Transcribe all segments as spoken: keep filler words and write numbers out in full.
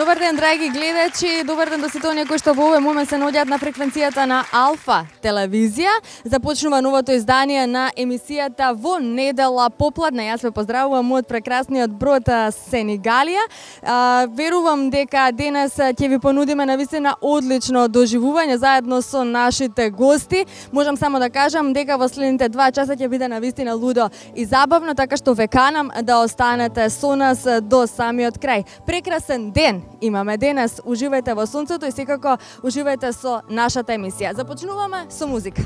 Добар ден, драги гледачи, добар ден до сите оние кои што во овој момент се наоѓаат на фреквенцијата на Алфа телевизија. Започнува новото издание на емисијата Во недела попладне. Јас ве поздравувам од прекрасниот брод Сенегалија. А, верувам дека денес ќе ви понудиме навистина одлично доживување заедно со нашите гости. Можам само да кажам дека во следните два часа ќе биде навистина лудо и забавно, така што ве канам да останете со нас до самиот крај. Прекрасен ден имаме денес, уживајте во сонцето и секако уживајте со нашата емисија. Започнуваме со музика.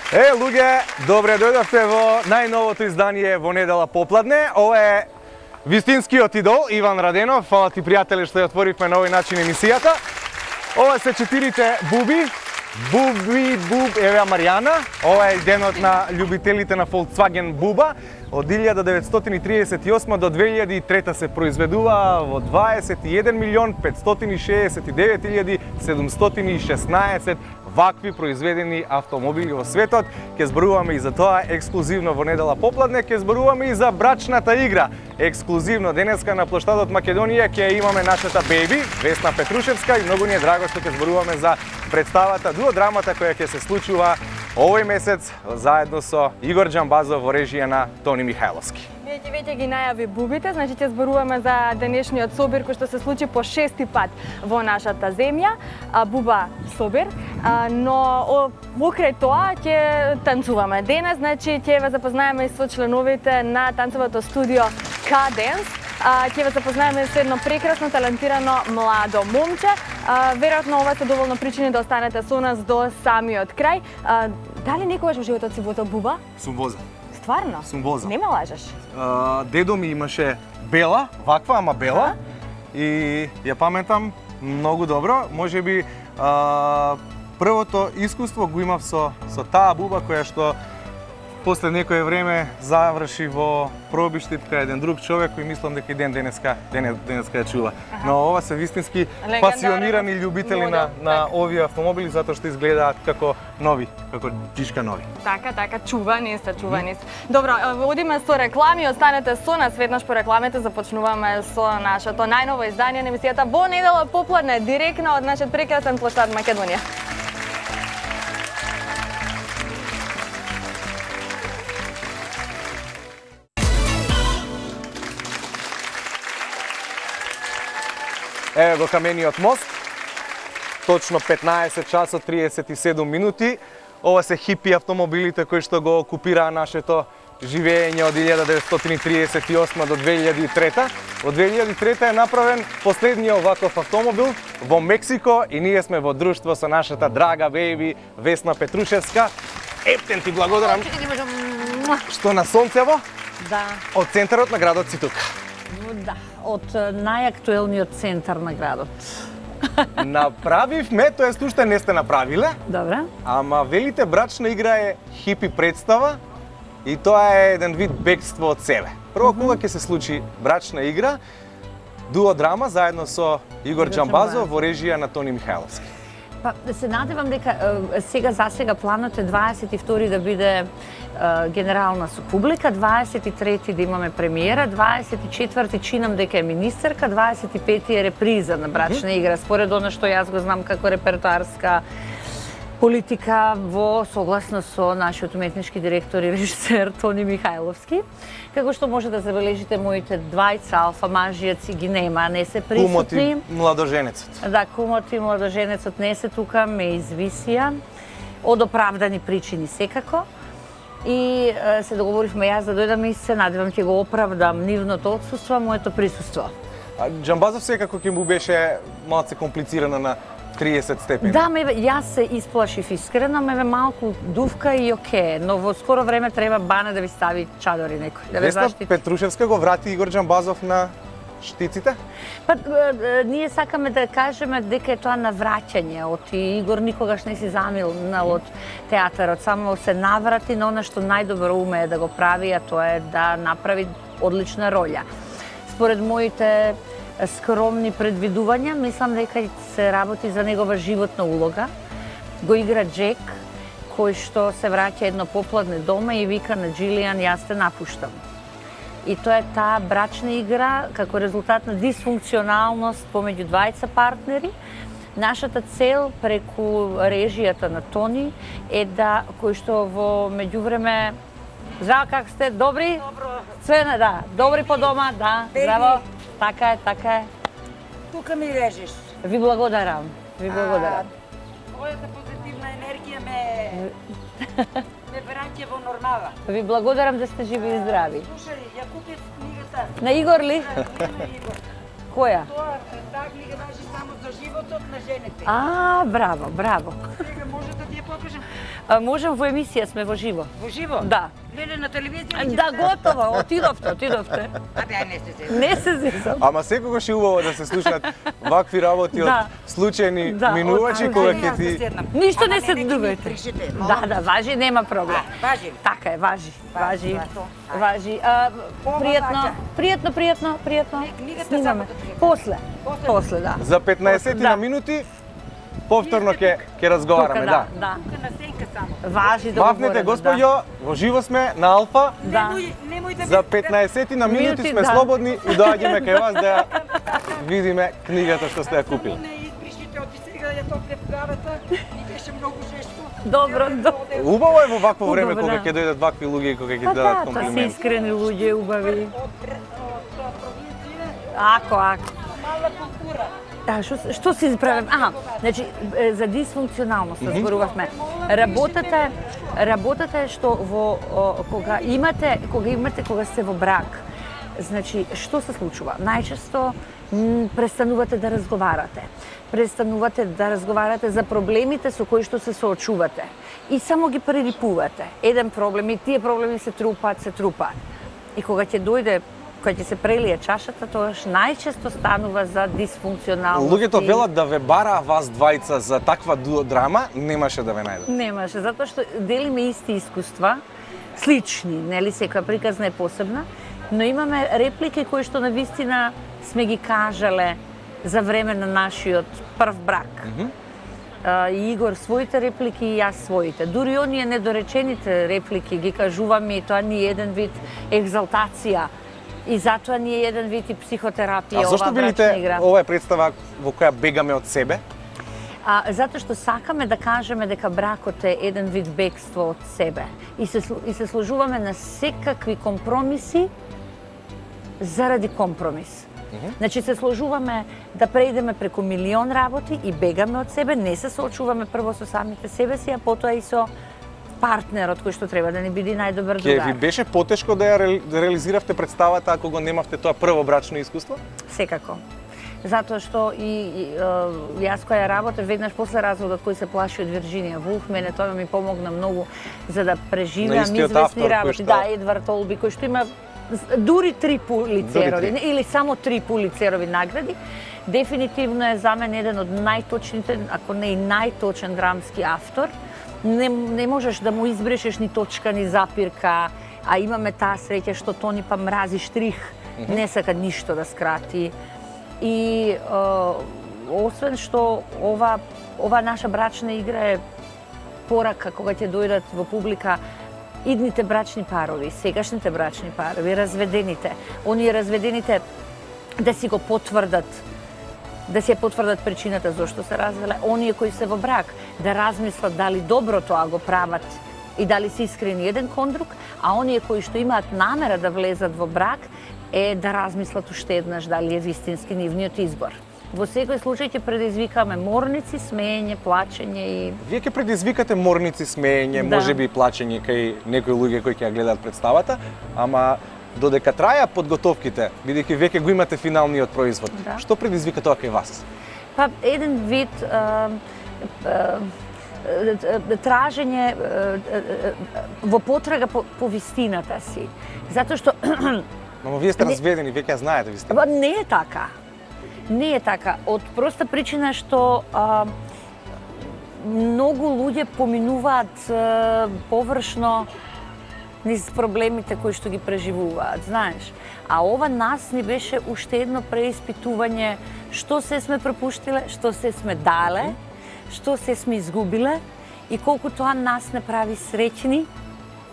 Е, луѓе, добре дојдовте во најновото издание Во недела попладне. Ова е вистинскиот идол, Иван Раденов. Фала ти, пријатели, што ја отворивме на овој начин емисијата. Ова се четирите буби. Буби, буб, еве Маријана. Ова е денот на љубителите на Volkswagen буба. Од илјада деветстотини триесет и осма до две илјади и трета се произведува во дваесет и еден милион петстотини шеесет и девет илјади седумстотини и шеснаесет вакви произведени автомобили во светот. Ке зборуваме и за тоа ексклузивно во недела попладне, ке зборуваме и за брачната игра. Ексклузивно денеска на плоштадот Македонија ќе имаме нашата беби, Весна Петрушевска, и многу ни е драго што ќе зборуваме за представата, дуодрамата која ќе се случува овој месец заедно со Игор Џамбазов во режија на Тони Михајловски. Вие ќе веќе ги најави бубите, значи ќе зборуваме за денешниот собир кој што се случи по шести пат во нашата земја, буба собир, но покрај тоа ќе танцуваме денес, значи ќе ве запознаеме и со членовите на танцовото студио K-Dance. Ќе ве запознаеме со едно прекрасно, талентирано младо момче. Веројатно ова се доволно причини да останете со нас до самиот крај. Дали некогаш во животот си возел буба? Сум возел. Стварно? Сум возел. Не ме лажеш? А, дедо ми имаше бела, ваква, ама бела. И ја паметам многу добро. Можеби а, првото искуство го имав со, со таа буба која што после некое време заврши во пробиштит кај еден друг човек кој мислам дека и ден денеска денес, денеска ја чува. Аха. Но ова се вистински пасионирани љубители на на овие автомобили затоа што изгледаат како нови, како чишка нови. Така, така, чувани се, чувани се. Добро, одиме со реклами, останете со нас, веднаш по рекламите започнуваме со нашето најново издание на емисијата Во недела попладне, директно од нашиот прекрасен площад Македонија. Еве го камениот мост, точно петнаесет часот триесет и седум минути. Ова се хипи автомобилите кои што го окупираа нашето живење од илјада деветстотини триесет и осма до две илјади и трета. Од две илјади и трета е направен последниот оваков автомобил во Мексико и ние сме во друштво со нашата драга бејби Весна Петрушевска. Ептен ти благодарам што на сонцево Да. од центарот на градот си тука. Да, од најактуелниот центар на градот. Направивме, тоест уште не сте направиле, Добре. ама велите брачна игра е хипи представа и тоа е еден вид бегство од себе. Прво, кога ќе се случи брачна игра, дуо драма заедно со Игор Џамбазов во режија на Тони Михајловски. Па, да се надевам дека е, сега за сега планот е дваесет и втори да биде е, генерална со публика, дваесет и трети да имаме премиера, дваесет и четврти чинам дека е министерка, дваесет и пети е реприза на брачна игра, според она што јас го знам како репертоарска политика во согласно со нашиот уметнички директор и режисер Тони Михајловски. Како што може да забележите, моите двајца алфа мажијаци ги нема, не се присутни. Кумот и младоженецот. Да, кумот и младоженецот не се тука, ме извисија, од оправдани причини секако. И е, се договоривме јас да дојдам и се надевам ќе го оправдам нивното отсуство, моето присуство. А Џамбазов секако ќе му беше малце комплицирано на триесет степени. Да, ме, јас се исплашив искрено, ме малку дувка и оке, но во скоро време треба бана да ви стави чадори некој, да ве Весна заштити. Петрушевска го врати Игор Џамбазов на штиците? Па, е, е, ние сакаме да кажеме дека е тоа навраќање од Игор никогаш не си замилнал од театарот, само се наврати на она што најдобро умее да го прави, а тоа е да направи одлична роља. Според моите скромни предвидувања, мислам дека се работи за негова животна улога. Го игра Джек, кој што се враќа едно попладне дома и вика на Джилијан, јас те напуштам. И тоа е таа брачна игра како резултат на дисфункционалност помеѓу двајца партнери. Нашата цел преку режијата на Тони е да, кој што во меѓувреме, здраво, как сте? Добри? Добро. Све, да, добри по дома, да, здраво. Така е, така е. Тука ми режеш. Ви благодарам, ви благодарам. Твојата позитивна енергија ме ме враќа во нормала. Ви благодарам да сте живи и здрави. Слушај, ја купив книгата. На Игор ли? Да, на Игор. Која? Тоа, таа книга важи само за животот на жените. А, браво, браво. Сега може да ти ја покажам. А, можем во емисија, сме во живо. Во живо? Да. Леле, на телевизија ли ќе Да, стави? готово, отидовте, отидовте. Абе, ај не се се. Не се зезам. Ама секогаш е убаво да се слушаат вакви работи од Да. случајни Да, минувачи од- кога од- ќе ти Ништо Ама не се не, не, дувате. не пришите, молам. Да, да, важи, нема проблем. А, важи ли? Така е, важи, важи, Важи. важи. А, Ова пријатно, важа. пријатно, пријатно, пријатно. Не, книгата Снимаме. само да пријатно. После, После. после, да. за петнаесет Да. на минути повторно ќе ќе разговараме, Тука, да. да. Тука на сенка само. Важи да Мафнете, говориме, господјо, во живо сме на Алфа. Да. Немој, немој да За петнаесет на минути Минути, сме да. слободни и доаѓаме кај вас да ја видиме книгата што сте ја купили. Не избришите од сега ја топле главата, ми беше многу жешко. Добро, добро. Убаво е во вакво време Убаво, кога да. ќе дојдат вакви луѓе и кога ќе Па ти дадат да, тоа се комплименти. искрени луѓе, убави. Од, од провинција, Ако, ако. мала култура. Да, што, што си правим? Аха, значи, е, за дисфункционалност зборувавме. Работата е, работата е што во, о, кога имате, кога имате, кога сте во брак, Значи, што се случува? Најчесто престанувате да разговарате. Престанувате да разговарате за проблемите со кои што се соочувате. И само ги прелипувате. Еден проблем и тие проблеми се трупаат, се трупаат. И кога ќе дојде, кога ќе се прелие чашата, тогаш најчесто станува за дисфункционалност. Луѓето велат да ве бара вас двајца за таква драма, немаше да ве најдат. Немаше, затоа што делиме исти искуства, слични, нели, секоја приказна е посебна, но имаме реплики кои што навистина сме ги кажале за време на нашиот прв брак. Mm -hmm. Uh, Игор своите реплики и јас своите. Дури оние недоречените реплики ги кажуваме и тоа ни е еден вид екзалтација. И затоа ни е еден вид и психотерапија. А зашто велите ова е представа во која бегаме од себе? А, затоа што сакаме да кажеме дека бракот е еден вид бегство од себе. И се, и се сложуваме на секакви компромиси заради компромис. Mm-hmm. Значи се сложуваме да преидеме преку милион работи и бегаме од себе, не се соочуваме прво со самите себе си, а потоа и со партнерот кој што треба да ни биде најдобар другар. Ке ви беше потешко да ја ре, да реализиравте представата ако го немавте тоа прво брачно искуство? Секако. Затоа што и, и јас која работев веднаш после разводот кој се плаши од Вирџинија Вулф, мене тоа ми помогна многу за да преживеам известни работи. Што... Да, Едвард Олби кој што има дури три пулицерови или само три пулицерови награди, дефинитивно е за мен еден од најточните, ако не и најточен драмски автор. Не, не можеш да му избрешеш ни точка, ни запирка, а имаме таа среќа што Тони па мрази штрих, mm-hmm. не сака ништо да скрати. И е, освен што ова, ова наша брачна игра е порака кога ќе дојдат во публика идните брачни парови, сегашните брачни парови, разведените, оние разведените да си го потврдат, да си ја потврдат причината зашто се развеле, оние кои се во брак, да размислат дали добро тоа го прават и дали се искрени еден кон друг, а оние кои што имаат намера да влезат во брак, е да размислат уште еднаш дали е вистински нивниот избор. Во секој случај ќе предизвикаме морници, смеење, плачење и... Вие ќе предизвикате морници, смеење, да. можеби и плачење кај некои луѓе кои ќе ја гледаат представата, ама додека траја подготовките, бидејќи веќе го имате финалниот производ, да. Што предизвика тоа кај вас? Па еден вид а, а, тражење во потрага по, по вистината си. Затоа што... Но вие сте разведени, веќе ја знаете вистината. Не е така. Не е така. Од проста причина што а, многу луѓе поминуваат а, површно низ проблемите кои што ги преживуваат, знаеш. А ова нас ни беше уште едно преиспитување што се сме пропуштиле, што се сме дале, што се сме изгубиле и колку тоа нас не прави среќни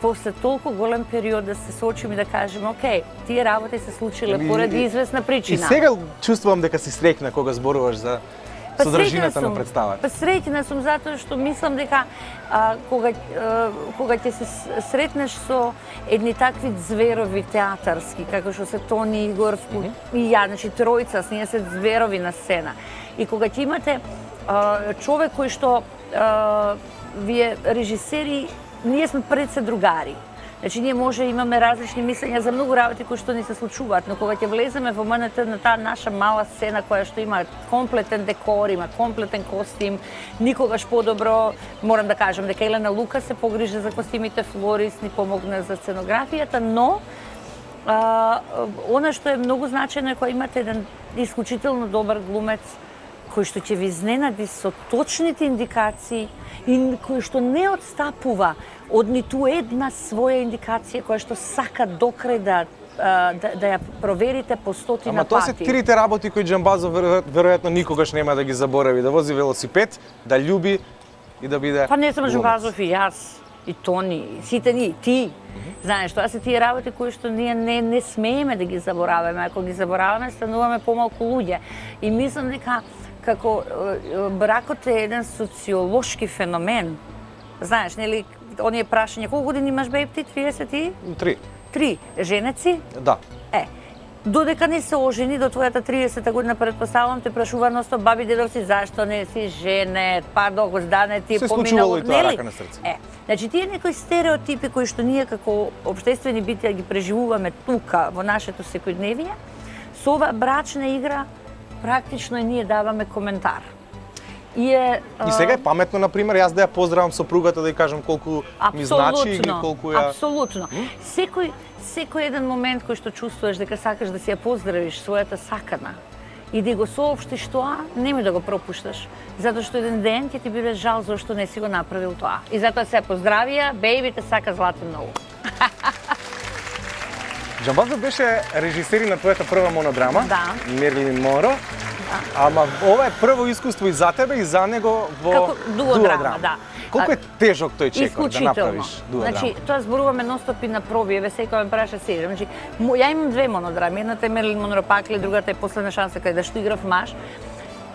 после толку голем период да се соочиме и да кажеме, окей, тие работи се случиле поради известна причина. И сега чувствувам дека си среќна кога зборуваш за па содржината на представата. Па среќна сум затоа што мислам дека а, кога, а, кога ќе се сретнеш со едни такви зверови театарски, како што се Тони, Игор mm-hmm. и ја, значи тројца, ние се зверови на сцена. И кога ќе имате а, човек кој што а, вие режисери, ние сме пред се другари. Значи, ние може имаме различни мислења за многу работи кои што ни се случуваат, но кога ќе влеземе во МНТ на таа наша мала сцена која што има комплетен декор, има комплетен костим, никогаш подобро, морам да кажам дека Елена Лука се погрижа за костимите, Флорис ни помогна за сценографијата, но а, она што е многу значајно е кога имате еден исклучително добар глумец кој што ќе ви изненади со точните индикации и кој што не отстапува од ниту една своја индикација која што сака докрај да, да, да ја проверите по стотина пати. Ама тоа се трите работи кои Џамбазов веројатно никогаш нема да ги заборави, да вози велосипед, да љуби и да биде... Па не само Џамбазов и јас, и Тони, и сите ни, ти. Mm-hmm. Знаеш, тоа се тие работи кои што ние не, не смееме да ги забораваме, ако ги забораваме стануваме помалку луѓе. И мислам дека како бракот е еден социолошки феномен. Знаеш, нели, оние прашања, колку години имаш беб ти? триесет и три. Три. Женеци? Да. Е, Додека не се ожени до твојата триесета година, предпоставувам, те прашува ностоп баби дедовци зашто не си женет, па докос дане ти се поминало, случувало и тоа рака на срце. Е, значи тие некои стереотипи кои што ние како општествени битија ги преживуваме тука во нашето секојдневие, со оваа брачна игра практично и ние даваме коментар. И, е, и сега е паметно, например, јас да ја поздравам сопругата, да ја кажам колку ми значи или колку ја... Апсолутно. Секој, секој еден момент кој што чувствуваш дека сакаш да си ја поздравиш својата сакана и да го соопштиш тоа, немој да го пропушташ. Затоа што еден ден ќе ти биде жал зашто не си го направил тоа. И затоа се поздравија, бејби те сака злати многу. Џамбазов беше режисер на твојата прва монодрама, да. Мерлин Монро. Да. Ама ова е прво искуство и за тебе и за него во како дуодрама, да. Колку е тежок тој чекор да направиш дуодрама? Значи, тоа зборуваме нонстоп и на проби, еве секој ме праша се. Значи, ја имам две монодрами, едната е Мерлин Монро Пакли, другата е Последна шанса каде што играв маж.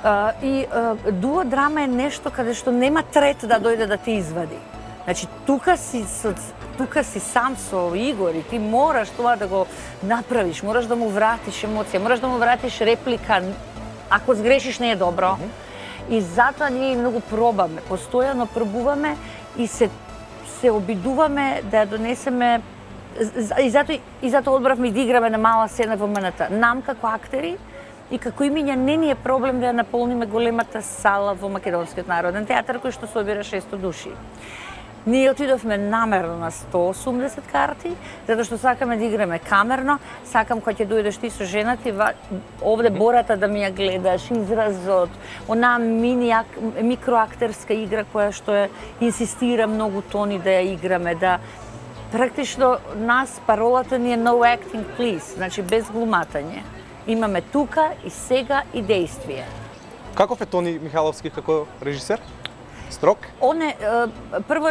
Uh, и uh, дуодрама е нешто каде што нема трет да дојде да те извади. Значи, тука си со тука си сам со Игор и ти мораш тоа да го направиш, мораш да му вратиш емоција, мораш да му вратиш реплика. Ако сгрешиш не е добро. Mm -hmm. И затоа ние многу пробаме, постојано пробуваме и се се обидуваме да ја донесеме и затоа и затоа одбравме да играме на мала сцена во МНТ. Нам како актери и како имиња не ни е проблем да ја наполниме големата сала во Македонскиот народен театар кој што собира шестоста души. Ние отидовме намерно на сто и осумдесет карти, затоа што сакаме да играме камерно, сакам кога ќе дојдеш ти со жена ти, овде бората да ми ја гледаш, изразот, онаа мини микроактерска игра која што е инсистира многу тони да ја играме, да практично нас паролата ни е no acting please, значи без глуматање. Имаме тука и сега и действие. Каков е Тони Михайловски како режисер? Строг? Он е, прво,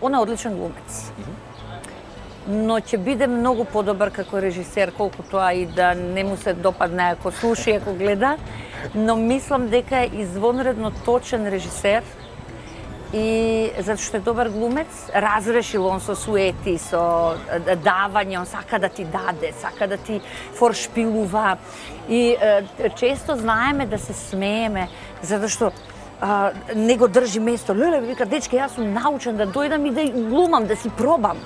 он е одличен глумец. Но ќе биде многу подобар како режисер, колку тоа и да не му се допадне ако слуша и ако гледа. Но мислам дека е извонредно точен режисер и затоа што е добар глумец, разрешил он со суети, со давање, он сака да ти даде, сака да ти форшпилува. И често знаеме да се смееме, затоа што Uh, не го држи место. Леле, вика, дечке, јас сум научен да дојдам и да глумам, да си пробам.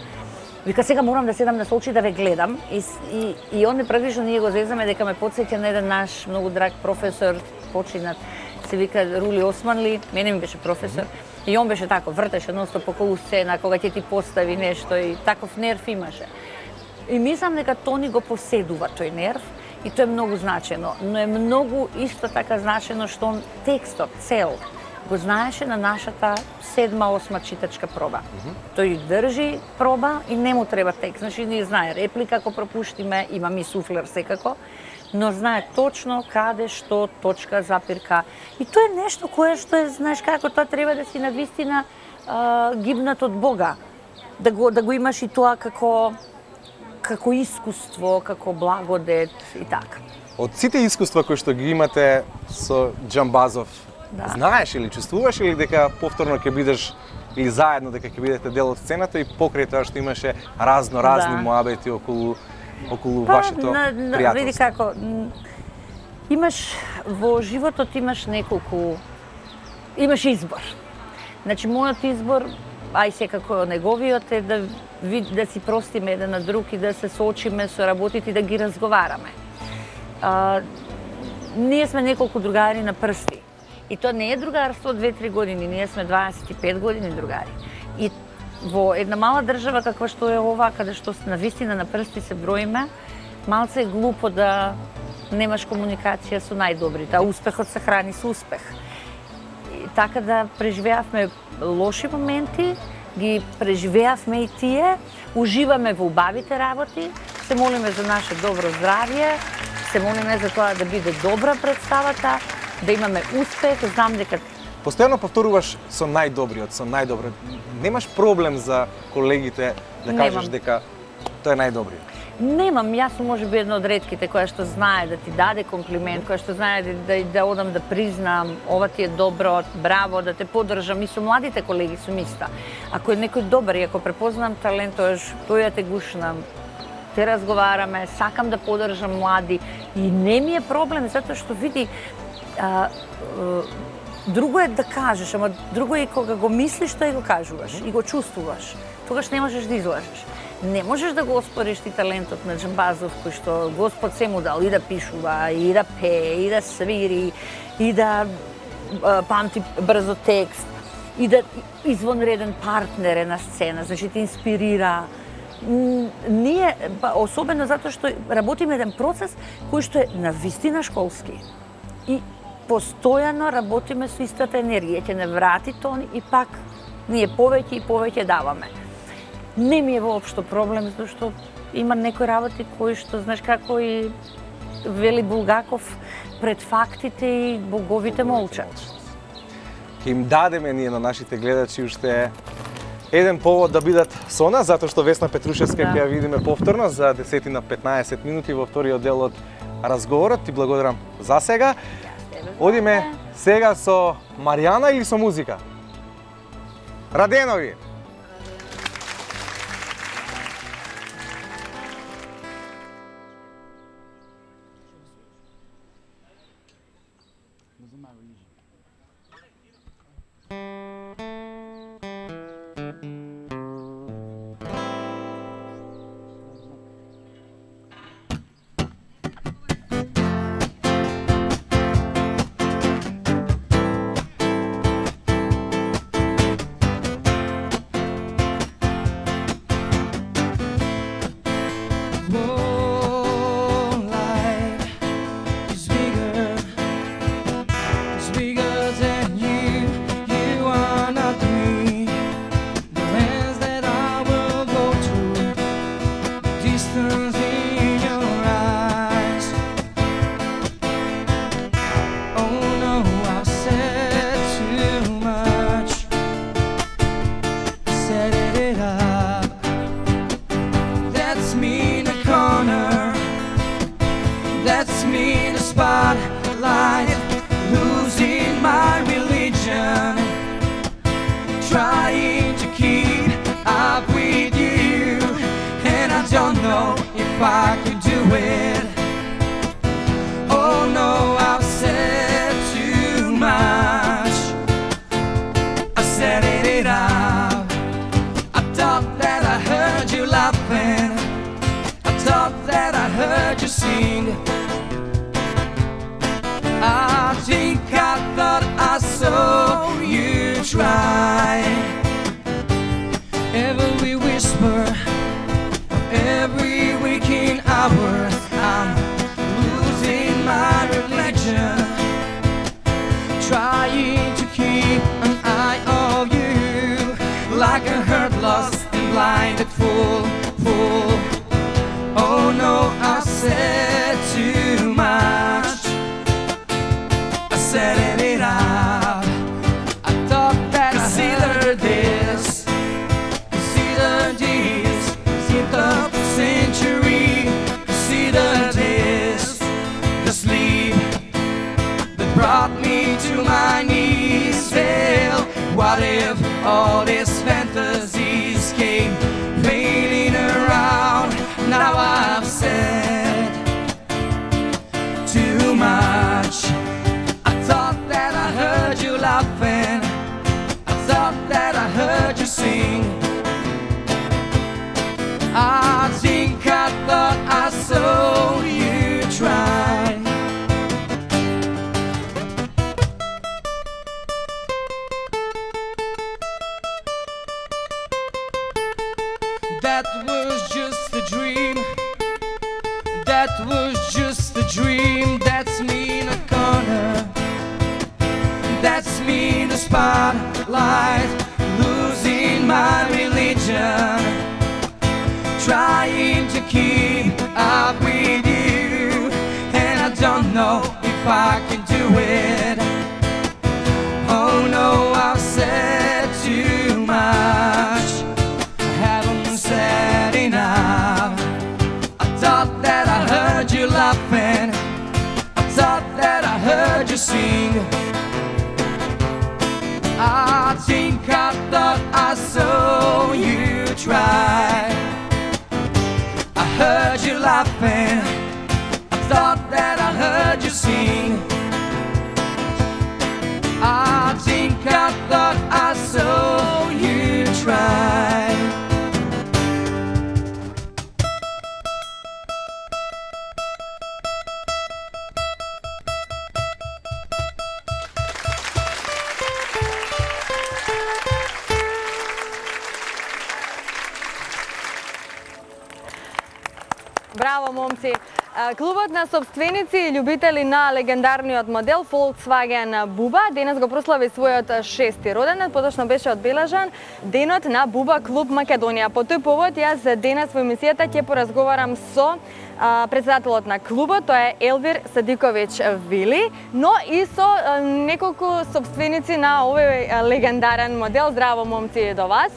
Вика, сега морам да седам на очи да ве гледам. И, и, и он практично ние го зезаме дека ме потсеќа на еден наш многу драг професор, починат, се вика Рули Османли, мене ми беше професор. И он беше тако, вртеше ностоп околу сцена, кога ќе ти постави нешто и таков нерв имаше. И мислам дека Тони го поседува тој нерв. И тоа е многу значено, но е многу исто така значено што он текстот цел го знаеше на нашата седма, осма читачка проба. Mm -hmm. Тој држи проба и не му треба текст. Значи не знае реплика ако пропуштиме, има ми суфлер секако, но знае точно каде, што, точка, запирка. И тоа е нешто кое што е, знаеш како, тоа треба да си навистина гибнат од Бога. Да го, да го имаш и тоа како како искуство, како благодет и така. Од сите искуства кои што ги имате со Џамбазов, да. Знаеш или чувствуваш или дека повторно ќе бидеш или заедно дека ќе бидете дел од сцената и покрај тоа што имаше разно разни да. Муабети околу околу па, вашето на, на, пријателство? Види како, имаш во животот имаш неколку имаш избор. Значи мојот избор, ај секако неговиот е да да си простиме еден на друг и да се соочиме со работите и да ги разговараме. А, ние сме неколку другари на прсти. И тоа не е другарство од две-три години, ние сме дваесет и пет години другари. И во една мала држава каква што е ова, каде што навистина на прсти се броиме, малце е глупо да немаш комуникација со најдобрите, а успехот се храни со успех. И така да преживеавме лоши моменти, ги преживеавме и тие, уживаме во убавите работи, се молиме за наше добро здравје, се молиме за тоа да биде добра представата, да имаме успех, знам дека... Постојано повторуваш со најдобриот, со најдобро. Немаш проблем за колегите да кажеш Немам. Дека тоа е најдобриот? Немам, јас сум можеби една од ретките која што знае да ти даде комплимент, која што знае да, да, да одам да признам, ова ти е добро, браво, да те поддржам. И со младите колеги сум иста. Ако е некој добар и ако препознам талент, тој ја те гушнам. ќе разговараме, сакам да поддржам млади и не ми е проблем затоа што види а, а, друго е да кажеш, ама друго е кога го мислиш тоа и го кажуваш и го чувствуваш. Тогаш не можеш да излажеш. Не можеш да го оспориш ти талентот на Джамбазов кој што Господ се му дал и да пишува, и да пее, и да свири, и да а, памти брзо текст, и да извонреден партнер е на сцена, значи те инспирира. Ние, особено затоа што работиме еден процес кој што е на вистина школски. И постојано работиме со истата енергија, ќе не врати тон и пак ние повеќе и повеќе даваме. Не ми е воопшто проблем, зашто има некои работи кои што, знаеш како и вели Булгаков, пред фактите и боговите молчат. Ќе им дадеме ние на нашите гледачи уште еден повод да бидат со нас, затоа што Весна Петрушевска ќе ја видиме повторно за десет-петнаесет минути во вториот дел од разговорот. Ти благодарам за сега. Одиме сега со Маријана или со музика? Раденови! I heard laughing. I thought that I heard you sing. I think I thought I saw you try. Браво, момци! Клубот на собственици и љубители на легендарниот модел Volkswagen Буба денес го прослави својот шести роденден, поточно беше одбележан денот на Буба Клуб Македонија. По тој повод јас денес во емисијата ќе поразговарам со председателот на клубот, тоа е Елвир Садиковиќ Вили, но и со неколку собственици на овој легендарен модел. Здраво, момци, до вас!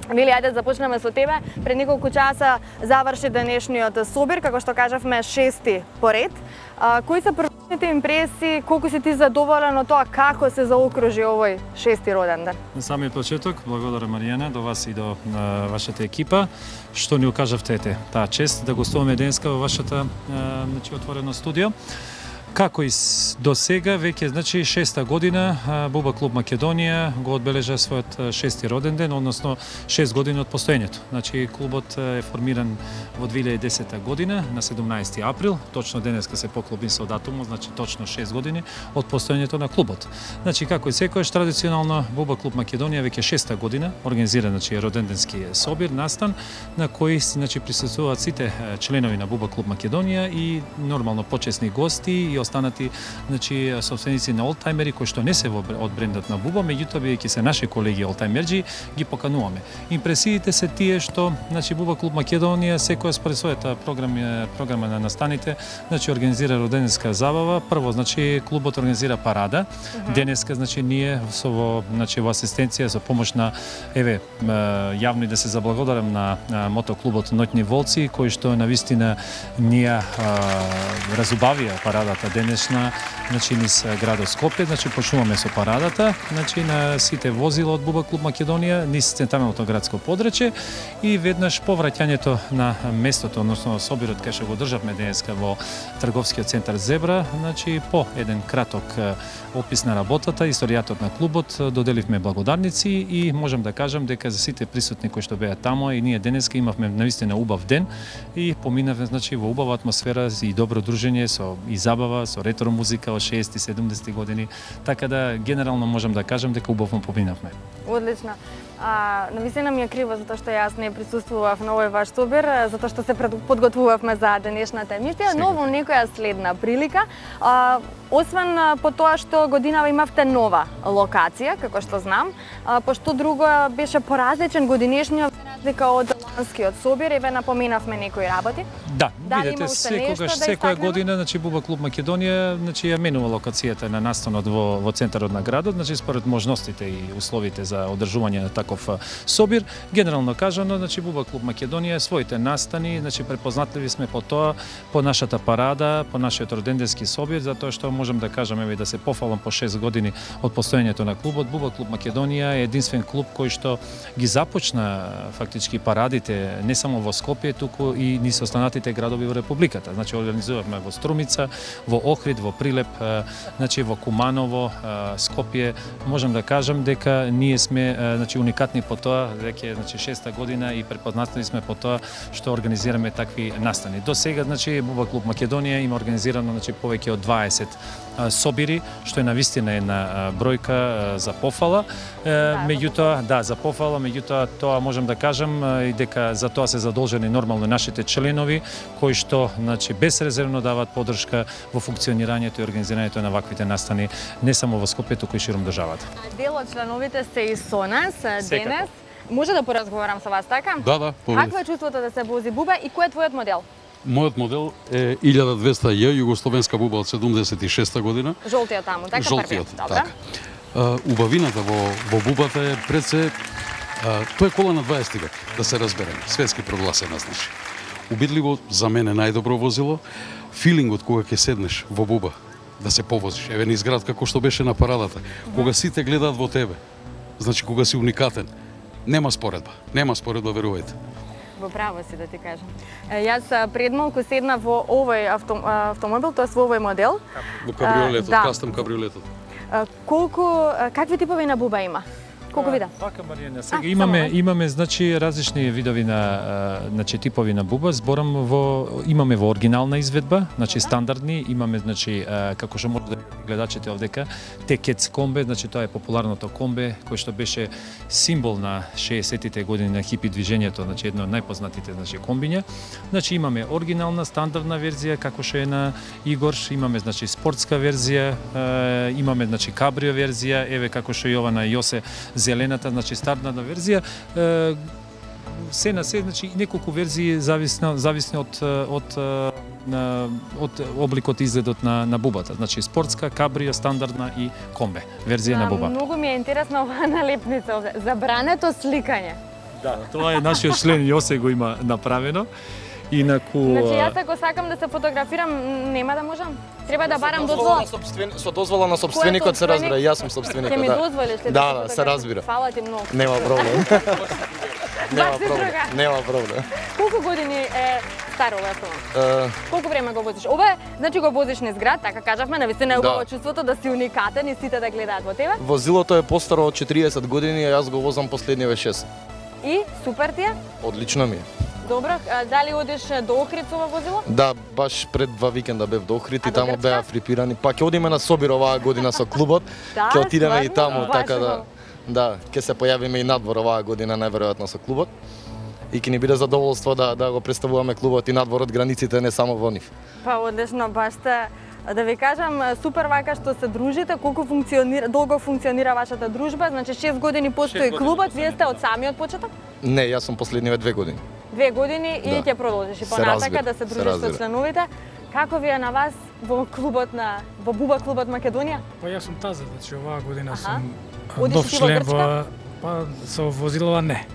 Вили, ајде да започнеме со тебе. Пред неколку часа заврши денешниот собир, како што кажавме, шести поред. А, кои се првите импресии, колку си ти задоволен од тоа како се заокружи овој шести роденден? На самиот почеток, благодарам Маријана, до вас и до а, вашата екипа, што ни окажавте таа чест да гостуваме денеска во вашата а, значи, отворено студио. Како и до сега, веќе значи шеста година Буба Клуб Македонија го одбележа својот шести роден ден, односно шест години од постоењето. Значи клубот е формиран во две илјади и десета година на седумнаесети април, точно денеска се поклопи со датумот, значи точно шест години од постоењето на клубот. Значи како и секојаш традиционално Буба Клуб Македонија веќе шеста година организира значи роденденски собир, настан на кој значи присуствуваат сите членови на Буба Клуб Македонија и нормално почесни гости и останати значи собственици на олтајмери кои што не се во од брендот на Буба, меѓутоа бидејќи се наши колеги олтајмерџи ги покануваме. Импресиите се тие што значи Буба Клуб Македонија секоја според својата програма програма на настаните значи организира роденденска забава. Прво значи клубот организира парада. Uh-huh. Денеска значи ние со во значи во асистенција со помош на еве јавно и да се заблагодарам на, на мотоклубот Ноќни волци кои што навистина ние разубавија парадата денешна значи низ градот Скопје, значи почнуваме со парадата, значи на сите возила од Буба Клуб Македонија низ централното градско подрачје и веднаш по враќањето на местото, односно собирот кај што го државме денеска во трговскиот центар Зебра, значи по еден краток опис на работата, историјатот на клубот, доделивме благодарници и можам да кажам дека за сите присутни кои што беа таму и ние денеска имавме навистина убав ден и поминавме значи во убава атмосфера и добро дружење со и забава, со ретро музика од шеесетти и седумдесетти години, така да генерално можам да кажам дека убаво поминавме. Одлично. А, навистина ми е криво затоа што јас не присуствував на овој ваш собир, затоа што се подготвувавме за денешната емисија, но во некоја следна прилика, а, освен по тоа што годинава имавте нова локација, како што знам, а, пошто друго беше поразличен годинешниот разлика од ланскиот собир, еве напоменавме некои работи. Да, видете, секогаш да секоја година, значи Буба Клуб Македонија, значи ја менува локацијата на настанот во во центарот на градот, значи според можностите и условите за одржување на таков собир. Генерално кажано, значи Буба Клуб Македонија своите настани, значи препознатливи сме по тоа, по нашата парада, по нашиот роденденски собир, затоа што можам да кажам еве да се пофалам по шест години од постоењето на клубот. Буба Клуб Македонија е единствен клуб кој што ги започна фактички парадите не само во Скопје, туку и низ останатите градови во републиката. Значи организувавме во Струмица, во Охрид, во Прилеп, значи во Куманово, Скопје. Можам да кажам дека ние сме значи уникатни по тоа, веќе значи шеста година и препознатливи сме по тоа што организираме такви настани. До сега значи Буба Клуб Македонија има организирано значи повеќе од дваесет собири, што е навистина една бројка за пофала. Да, меѓутоа, да, за пофала, меѓутоа тоа можам да кажам и дека за тоа се задолжени нормално нашите членови кои што значи безрезервно даваат поддршка во функционирањето и организирањето на ваквите настани не само во Скопје, туку и ширум државата. Дел од членовите се и со нас денес. Може да поразговарам со вас, така? Да, да. Какво е чувството да се вози Буба и кој е твојот модел? Мојот модел е илјада двеста Ј, југословенска Буба од седумдесет и шеста година. Жолтиот таму, така? Жолтиот, така. Убавината во, во Бубата е пред се, тоа е кола на дваесети век, да се разбереме, светски прогласена, значи. Убедливо за мене најдобро возило, филингот кога ќе седнеш во Буба, да се повозиш, еве низ град како што беше на парадата, кога сите гледаат во тебе, значи кога си уникатен, нема споредба, нема споредба, верувајте. Во право си да ти кажам. Е, јас пред малку седнав во овој авто, автомобил, тоа во овој модел. Во кабриолетот, да. кастом кабриолетот. Колку, какви типови на буба има? Колку вида? Така, Маријана, сега имаме имаме значи различни видови на значи типови на буба. Зборам во имаме во оригинална изведба, значи стандардни, имаме значи како што може да гледачите овдека, Текец комбе, значи тоа е популарното комбе кој што беше символ на шеесеттите години на хипи движењето, значи едно од најпознатите значи комбиња. Значи имаме оригинална стандардна верзија како што е на Игор, имаме значи спортска верзија, имаме значи кабрио верзија, еве како што и ова на Јосе зелената, значи стандардна верзија, е, се на се, значи неколку верзии зависно зависно од од на од обликот изгледот на на бубата, значи спортска, кабрио, стандардна и комбе верзија на буба. Многу ми е интересна оваа налепница овде. Забрането сликање. Да, тоа е нашиот член Јосе го има направено. Инаку Значи јас ако сакам да се фотографирам, нема да можам. Треба да барам дозвола. Со дозвола на собственикот се разбира, јас сум собственикот, да. Ќе ми дозволиш ли да, да, се разбира. Фала ти многу. Нема проблем. Нема проблем. Нема проблем. Колку години е стар овој автомобил? Колку време го возиш? Ова значи го возиш низ град, така кажавме, навистина е убаво чувството да си уникатен и сите да гледаат во тебе. Возилото е постаро од четириесет години, а јас го возам последниве шест. И супер ти е? Одлично ми е. Добро, дали одиш до Охрид со ова возило? Да, баш пред два викенда бев до Охрид и таму беа фрипирани. Па ќе одиме на Собир оваа година со клубот. Да, ќе отидеме и таму, да, така да да, ќе се појавиме и надвор оваа година најверојатно со клубот. И ќе ни биде задоволство да да го представуваме клубот и надвор од границите, не само во нив. Па одлично, баш те да ви кажам, супер вака што се дружите, колку функционира, долго функционира вашата дружба, значи шест години постои клубот, вие сте од самиот почеток? Не, јас сум последниве две години. Две години и ќе продолжиш и понатака да се дружиш со членовите. Како ви е на вас во клубот на во Буба клубот Македонија? Па јас сум таза, значи оваа година сум Одиш нов ти во член Грчка? во па со возилова не.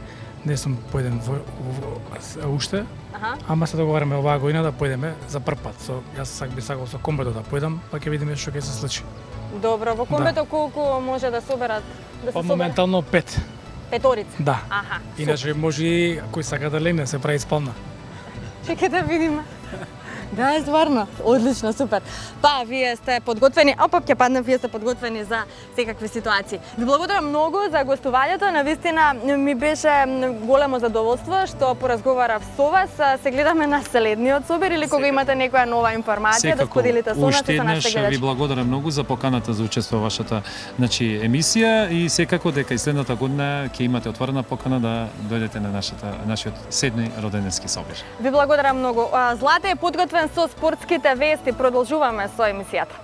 Не сум појден во, во, во уште. Аха. Ама се договараме оваа година да појдеме за прв пат. Со јас сак би сакал со комбето да појдам, па ќе видиме што ќе се случи. Добро, во комбето колку може да соберат да се Па соберат? моментално пет. Петорица. Да. Аха. Иначе може и кој сака да легне се прави спална. Чекај да видиме. Да, стварно. Одлично, супер. Па, вие сте подготвени, опа, ќе падне, вие сте подготвени за секакви ситуации. Ви благодарам многу за гостувањето, навистина ми беше големо задоволство што поразговарав со вас. Се гледаме на следниот Собир или кога имате некоја нова информација да споделите со нас и со нашите гледачи. Ви благодарам многу за поканата за учество во вашата значи емисија и секако дека и следната година ќе имате отворена покана да дојдете на нашата нашиот седми роденденски Собир. Ви благодарам многу. Злате е подготвен со спортските вести, продолжуваме со емисијата.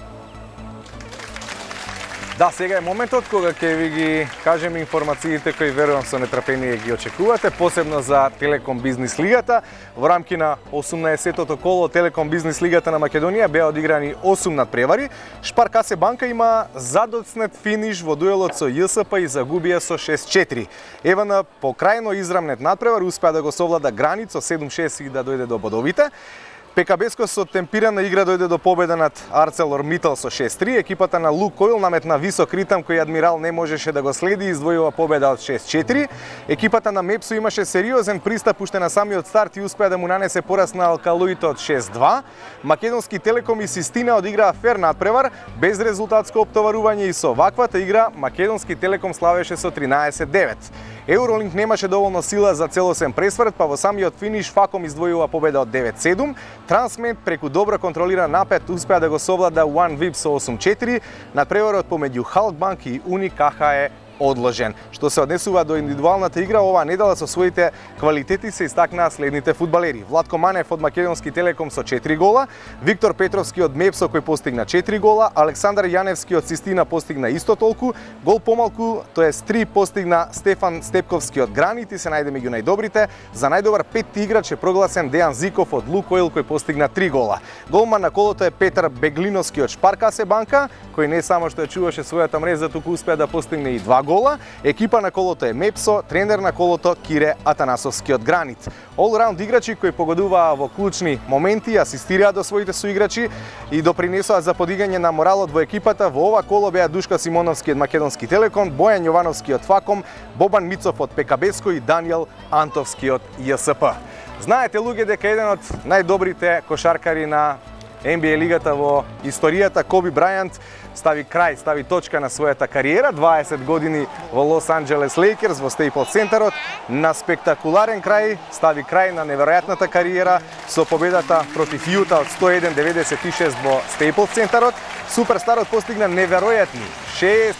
Да, сега е моментот кога ќе ви ги кажеме информациите кои верувам со нетрпение ги очекувате, посебно за Телеком Бизнис Лигата. Во рамки на осумнаесеттото коло Телеком Бизнис Лигата на Македонија беа одиграни осум надпревари. Шпар ка ес Банка има задоцнет финиш во дуелот со Ја С П и загубија со шест четири. Ева на покрајно израмнет надпревар успеа да го совлада Границ со седум шест и да дојде до бодовите. Пекабеско со темпирана игра дојде до победа над Арцелор Митал со шест три. Екипата на Лукойл наметна висок ритам кој Адмирал не можеше да го следи и издвојува победа од шест четири. Екипата на Мепсо имаше сериозен пристап уште на самиот старт и успеа да му нанесе пораз на Алкалуите од шест два. Македонски Телеком и Систина одиграа фер надпревар, без резултатско оптоварување и со ваквата игра Македонски Телеком славеше со тринаесет девет. Евролинк немаше доволно сила за целосен пресврт, па во самиот финиш Факом издвојува победа од девет седум. Трансмет преку добро контролиран напет успеа да го совлада OneVip со осум четири. Надпреварот помеѓу Халкбанк и Уни К Х е одложен. Што се однесува до индивидуалната игра, оваа недела со своите квалитети се истакнаа следните фудбалери. Владко Манев од Македонски Телеком со четири гола, Виктор Петровски од Мепсо кој постигна четири гола, Александар Јаневски од Систина постигна исто толку, гол помалку, тоест три постигна Стефан Степковски од Гранит и се најде меѓу најдобрите. За најдобар петти играч е прогласен Дејан Зиков од Лукойл кој постигна три гола. Голман на колото е Петар Беглиновски од Шпар ка ес Банка, кој не само што ја чуваше својата мрежа, туку успеа да постигне и два гола. Екипа на колото е Мепсо, тренер на колото Кире Атанасовски од Гранит. All-round играчи кои погодуваа во клучни моменти, асистираа до своите соиграчи и допринесоа за подигање на моралот во екипата. Во ова коло беа Душка Симоновски од Македонски Телеком, Бојан Јовановски од Факом, Бобан Мицов од Пекабеско и Данијел Антовски од Ја С П. Знаете, луѓе, дека еден од најдобрите кошаркари на Н Б А лигата во историјата, Коби Брајант, стави крај, стави точка на својата кариера, дваесет години во Лос Анџелес Лейкерс, во Стейплс центарот, на спектакуларен крај, стави крај на неверојатната кариера со победата против Јута од сто еден деветдесет и шест во Стейплс центарот. Суперстарот постигна неверојатни шест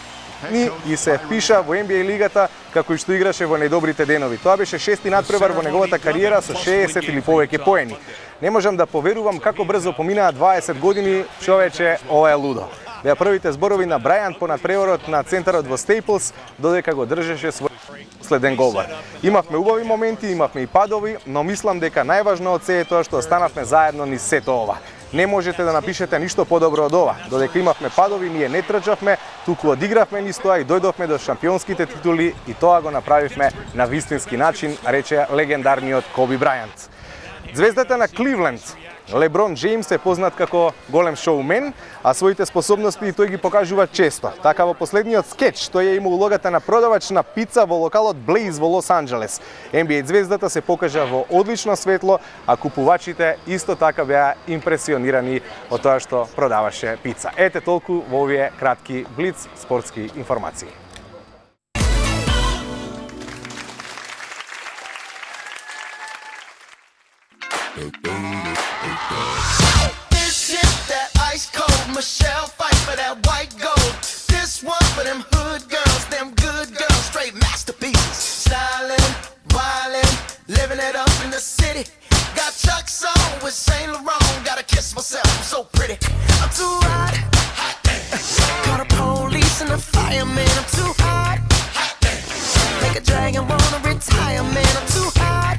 дни и се впиша во Н Б А лигата како и што играше во најдобрите денови. Тоа беше шести надпревар во неговата кариера со шеесет или повеќе поени. Не можам да поверувам како брзо поминаа дваесет години, човече, ова е лудо. Беа првите зборови на Брајант по надпреварот на центарот во Стейплс, додека го држеше свој следен голбар. Имавме убави моменти, имавме и падови, но мислам дека најважно од се е тоа што останавме заедно низ сето ова. Не можете да напишете ништо подобро од ова. Додека имавме падови, ние не трчавме, туку одигравме низ тоа и дојдовме до шампионските титули и тоа го направивме на вистински начин, рече легендарниот Коби Брајант. Звездата на Кливленд, Леброн Джеймс, е познат како голем шоумен, а своите способности тој ги покажува често. Така во последниот скеч тој ја има улогата на продавач на пица во локалот Блейз во Лос Анџелес. Н Б А звездата се покажа во одлично светло, а купувачите исто така беа импресионирани од тоа што продаваше пица. Ете толку во овие кратки блиц спортски информации. This is that ice cold Michelle fight for that white gold. This one for them hood girls, them good girls, straight masterpieces. Styling, wildin', living it up in the city. Got Chuck's on with Saint Laurent. Gotta kiss myself, I'm so pretty. I'm too hot. Call the police and the fireman. I'm too hot. Make a dragon wanna retire, man. I'm too hot.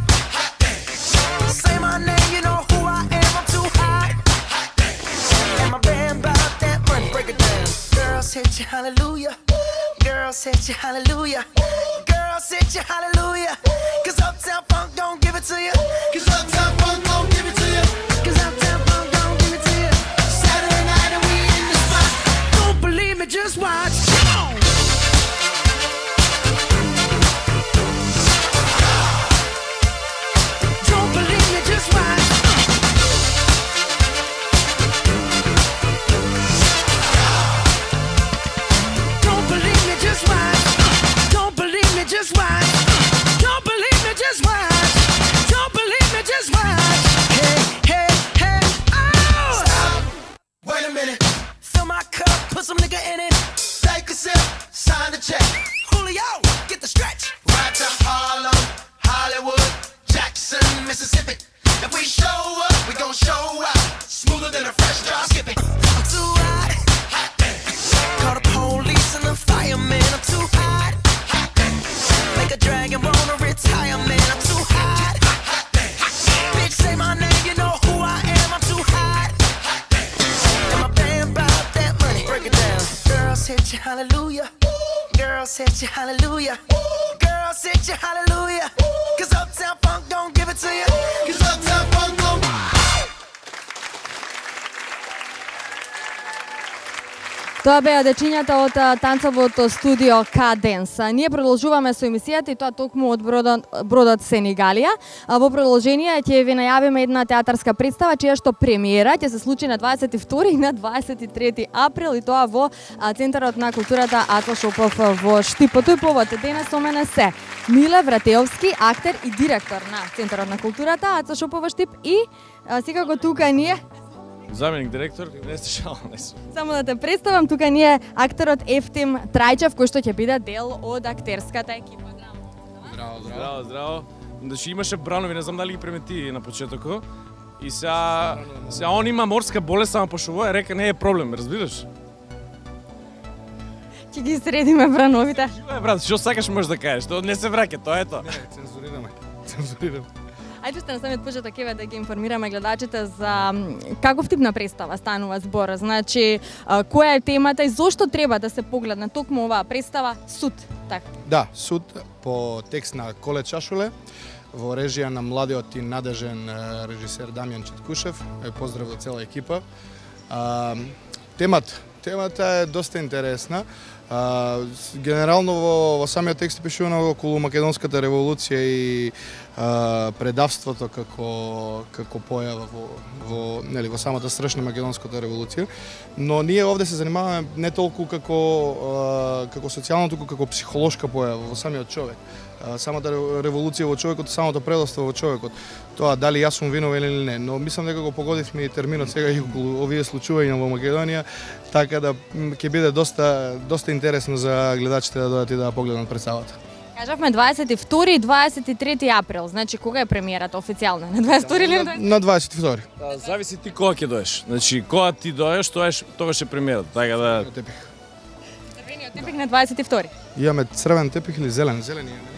Say my name, you know who I am. I'm too hot. And my band bought that money. Break it down. Girls hit you, hallelujah. Girls hit you, hallelujah. Girls hit you, hallelujah. Cause Uptown Funk don't give it to you. Cause Uptown Funk don't give it to you. Cause Uptown Funk don't give it to you. Saturday night and we in the spot. Don't believe me, just watch. Come on. Don't believe me, just watch. Don't believe me, just watch. Don't believe me, just watch. Don't believe me, just watch. Don't believe me, just watch. Hey, hey, hey, oh! Stop. Wait a minute. Fill my cup, put some nigga in it. Take a sip, sign the check. Julio, get the stretch. Right to Harlem, Hollywood, Jackson, Mississippi. If we show up, we gon' show out. Smoother than a fresh drop skipping. I'm too hot. Call the police and the fireman. I'm too hot. Make a dragon wanna retire, man. I'm too hot. Bitch, say my name, you know who I am. I'm too hot. And my band bought that money. Break it down. Girls hit you, hallelujah. Girls hit you, hallelujah. Girls hit you, hallelujah. Cause Uptown Funk don't give it to you. Cause Uptown Funk don't. Тоа беа дечињата од танцовото студио Каденс. Ние продолжуваме со емисијата и тоа токму од бродот, бродот Сенегалија. Во продолжение ќе ви најавиме една театарска представа чија што премиера ќе се случи на дваесет и втори и на дваесет и трети април и тоа во Центарот на културата Ацо Шопов во Штип. По тој повод денес со мене се Миле Вратеовски, актер и директор на Центарот на културата Ацо Шопов во Штип и секако тука ние заменик директор, не сте шал, не сум. Само да те представам, тука ни е актерот Ефтим Трајчев, кој што ќе биде дел од актерската екипа. Здраво, здраво, здраво. Значи имаше бранови, не знам дали ги примети на почетокот. И сега, сега он има морска болест, само пошо е, река не е проблем, разбираш? Ќе ги средиме брановите. Е, брат, што сакаш можеш да кажеш, тоа не се враќа, тоа е тоа. Не, цензурираме. Цензурираме. Ајде сте на самиот почеток еве да ги информираме гледачите за каков тип на представа станува збор. Значи, која е темата и зошто треба да се погледне токму оваа представа Суд, така? Да, Суд по текст на Коле Чашуле во режија на младиот и надежен режисер Дамјан Четкушев. Е поздрав до цела екипа. А, темат Темата е доста интересна. А, генерално во, во самиот текст пишувано околу македонската револуција и а, предавството како како појава во во нели во самата страшна македонската револуција, но ние овде се занимаваме не толку како а, како социјално, туку како психолошка појава во самиот човек. А, самата револуција во човекот, самото предавство во човекот. Тоа дали јас сум виновен или не, но мислам дека го погодивме и терминот сега и околу овие случувања во Македонија, така да ќе биде доста доста интересно за гледачите да дојдат и да погледнат представата. Кажавме дваесет и втори и дваесет и трети април, значи кога е премиерата официјално? На дваесет и втори или на На дваесет и втори. Да, зависи ти кога ќе доеш. Значи кога ти доеш, тоа е тогаш е премиерата, така да Црвениот тепих на дваесет и втори. Имаме црвен тепих или зелен? Зелен имаме.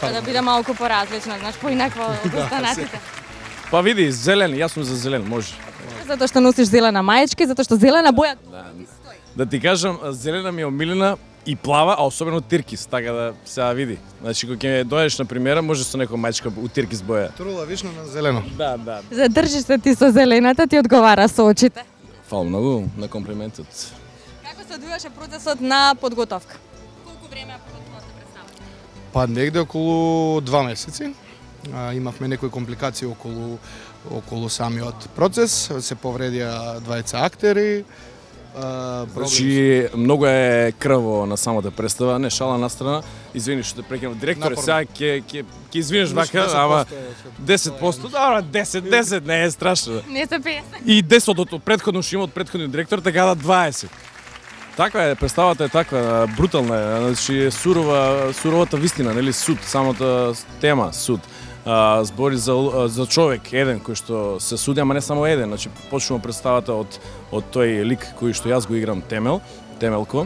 За да биде малку поразлично, знаеш, поинакво од останатите. Па види, зелен, јас сум за зелен, може. Затоа што носиш зелена мајчка, затоа што зелена боја Да, да ти кажам, зелена ми е омилена и плава, а особено тиркис, така да сега види. Значи кога ќе дојдеш на премиера, може со некоја мајчка у тиркис боја. Трула вишно на зелено. Да, да. Задржиш се ти со зелената, ти одговара со очите. Фала многу на комплиментот. Како се одвиваше процесот на подготовка? Колку време подготовка се представа? Па негде околу два месеци. А, имавме некои компликации околу околу самиот процес, се повредија двајца актери. А, Значи, многу е крво на самата представа, не шала на страна. Извини што те прекинав, директор, сега ќе ќе ќе извиниш вака, ама десет проценти, да, десет, десет, не е страшно. Не се песен. И десет од претходно што има од претходниот директор, така да дваесет. Таква е, представата е таква, брутална е, значи е сурова, суровата вистина, нели, суд, самата тема, суд. А, збори за, за човек, еден кој што се суди, ама не само еден, значи почнува представата од, од тој лик кој што јас го играм, Темел, Темелко,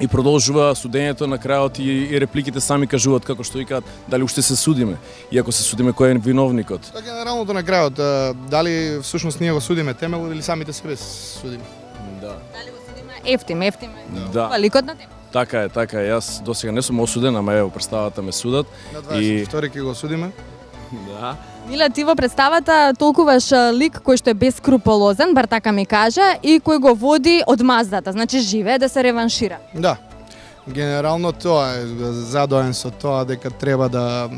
и продолжува судењето на крајот и, и репликите сами кажуваат како што викаат дали уште се судиме, и ако се судиме кој е виновникот. Така генералното на крајот, дали всушност ние го судиме Темел или самите себе судиме? Да. Дали го судиме Ефтим, Ефтим е Да. ликот на Темел. Така е, така е. Јас досега не сум осуден, ама ево представата ме судат. На дваесет и втори ќе го судиме. Да. Миле, ти во представата толкуваш лик кој што е бескрупулозен, бар така ми кажа, и кој го води од маздата, значи живее да се реваншира. Да. Генерално тоа е задоен со тоа дека треба да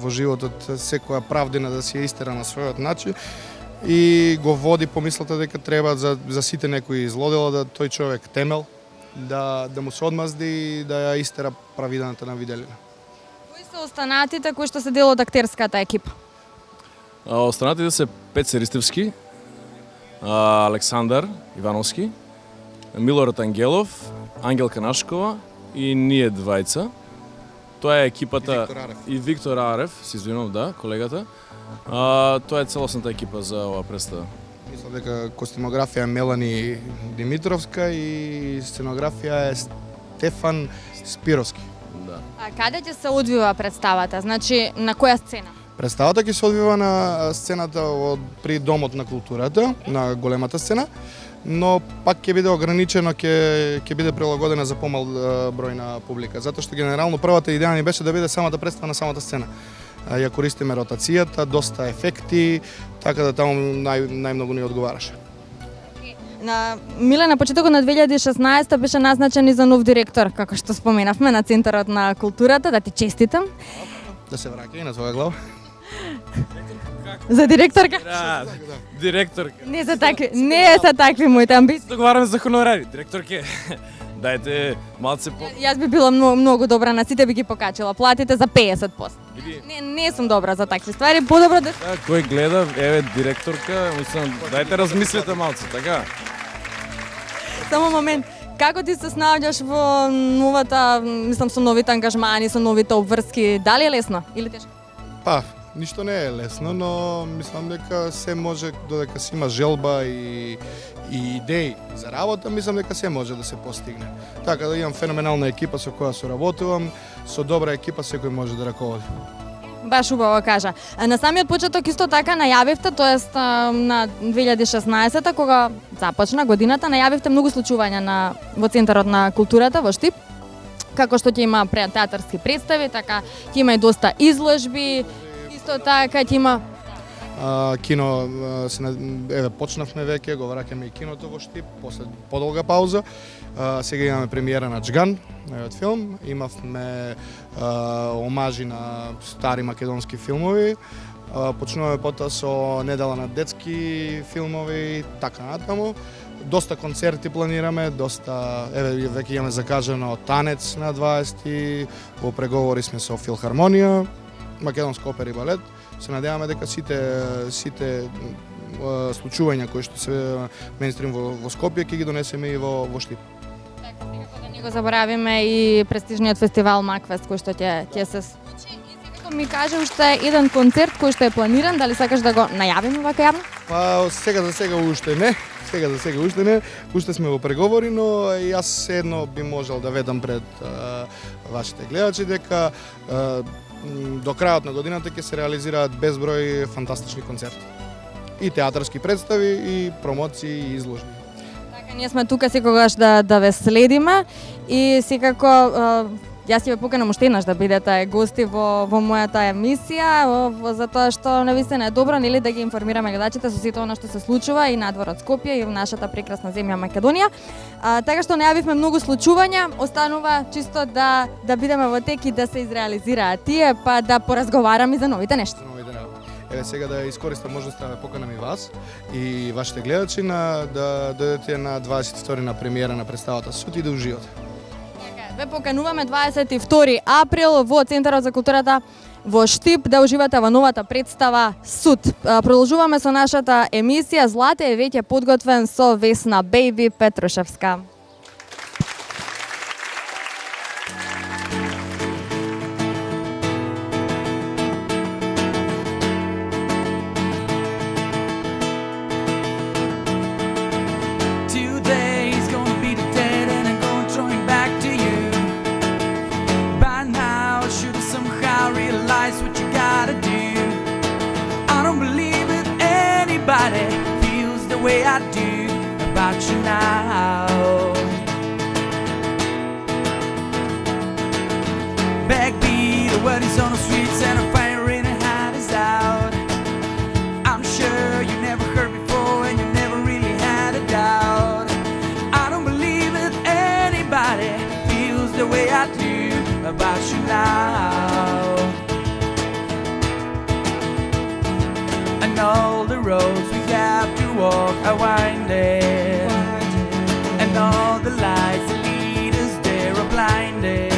во животот секоја правдина да си ја истера на својот начин и го води помислата дека треба за, за сите некои злодела да тој човек Темел да да му се одмазди и да ја истера правидената на виделина. Кои се останатите кои што се дел од актерската екипа? А, останатите се Пеце Ристевски, а, Александар Ивановски, Милорад Ангелов, Ангелка Нашкова и ние двајца. Тоа е екипата И Виктор Арев. и Виктор Арев, се извинувам, да, колегата. А, тоа е целосната екипа за оваа представа. Мислам дека костюмографија е Мелани Димитровска и сценографија е Стефан Спировски. Да. А каде ќе се одвива представата? Значи на која сцена? Представата ќе се одвива на сцената од при Домот на културата, на големата сцена, но пак ќе биде ограничено, ќе ќе биде прилагодена за помал е, број на публика, затоа што генерално првата идеја ни беше да биде самата представа на самата сцена. А, ја користиме ротацијата, доста ефекти, така да таму нај, најмногу ни одговараше. На Миле, на почетокот на две илјади и шеснаесета беше назначен и за нов директор, како што споменавме, на Центарот на културата, да ти честитам. Да се враќа и на твоја глава. За директорка? Да, директор. Не за такви, не за такви моите амбиции. Договараме за хонорари. Директорке, дајте малце по... Јас би била многу, многу добра, на сите би ги покачила платите за песет проценти. Види. Не, не сум добра за такви ствари, подобро да... Да, кој гледа, еве директорка, мислам, дајте размислете малце, така? Само момент. Како ти се снаоѓаш во новата, мислам, со новите ангажмани, со новите обврски? Дали е лесно или тешко? Па, ништо не е лесно, но мислам дека се може, додека се има желба и, и идеи за работа, мислам дека се може да се постигне. Така да имам феноменална екипа со која соработувам, со добра екипа секој може да раководи. Баш убаво кажа. На самиот почеток исто така најавивте, тоест на две илјади и шеснаесета, кога започна годината, најавивте многу случувања на во Центарот на културата во Штип, како што ќе има театарски представи, така ќе има и доста изложби, исто така ќе има А, кино, а, се, еве, почнавме веќе, го враќаме и киното во Штип, после подолга пауза. А, сега имаме премиера на Джган, новиот филм. Имавме а, омажи на стари македонски филмови. А, почнуваме потоа со недела на детски филмови, така натаму. Доста концерти планираме, доста, еве, веќе имаме закажано танец на дваесети, во преговори сме со Филхармонија, Македонска опера и балет. Се надеваме дека сите сите случувања кои што се мејнстрим во, во Скопје ќе ги донесеме и во во Штип. Така, никако да не го заборавиме и престижниот фестивал Макфест кој што ќе ќе се случи. И секако ми каже уште еден концерт кој што е планиран, дали сакаш да го најавиме вака јавно? Па сега за сега уште не. Сега за сега уште не, уште сме во преговори, но јас седно би можел да ведам пред а, вашите гледачи дека а, до крајот на годината ќе се реализираат безброј фантастични концерти. И театарски представи, и промоции, и изложби. Така, ние сме тука секогаш да да ве следиме и секако а, јас ќе ве поканам уште еднаш да бидете гости во во мојата емисија, во, во, затоа што навистина е добро нели да ги информираме гледачите со сето она што се случува и надвор од Скопје и во нашата прекрасна земја Македонија. А, така што најавивме многу случувања, останува чисто да да бидеме во тек и да се изреализираат тие, па да поразговараме за новите нешта. Еве сега да искористам можноста да поканам и вас и вашите гледачи на да дојдете на дваесет и втори на премиера на представата Суд и да уживате. Ве покануваме дваесет и втори април во Центарот за културата во Штип да уживате во новата представа Суд. Продолжуваме со нашата емисија. Злате е веќе подготвен со Весна Бејби Петрушевска. Feels the way I do about you now. Backbeat, the word is on the streets and I'm firing and hard is out. I'm sure you never heard before and you never really had a doubt. I don't believe that anybody feels the way I do about you now. And all the roads we have to walk are winding, and all the lights that lead us there are blinded.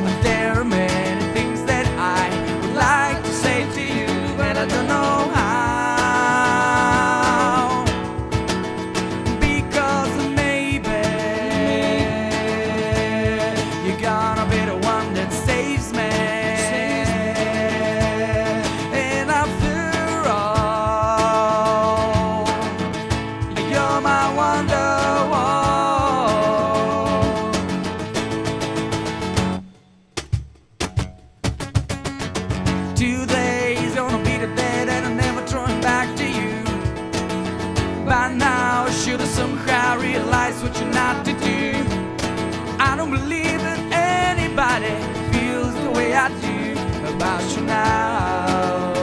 But there are many things that I would like to say to you, but I don't know how. Because maybe you're gonna be the one that saves me. Somehow realize what you're not to do. I don't believe that anybody feels the way I do about you now.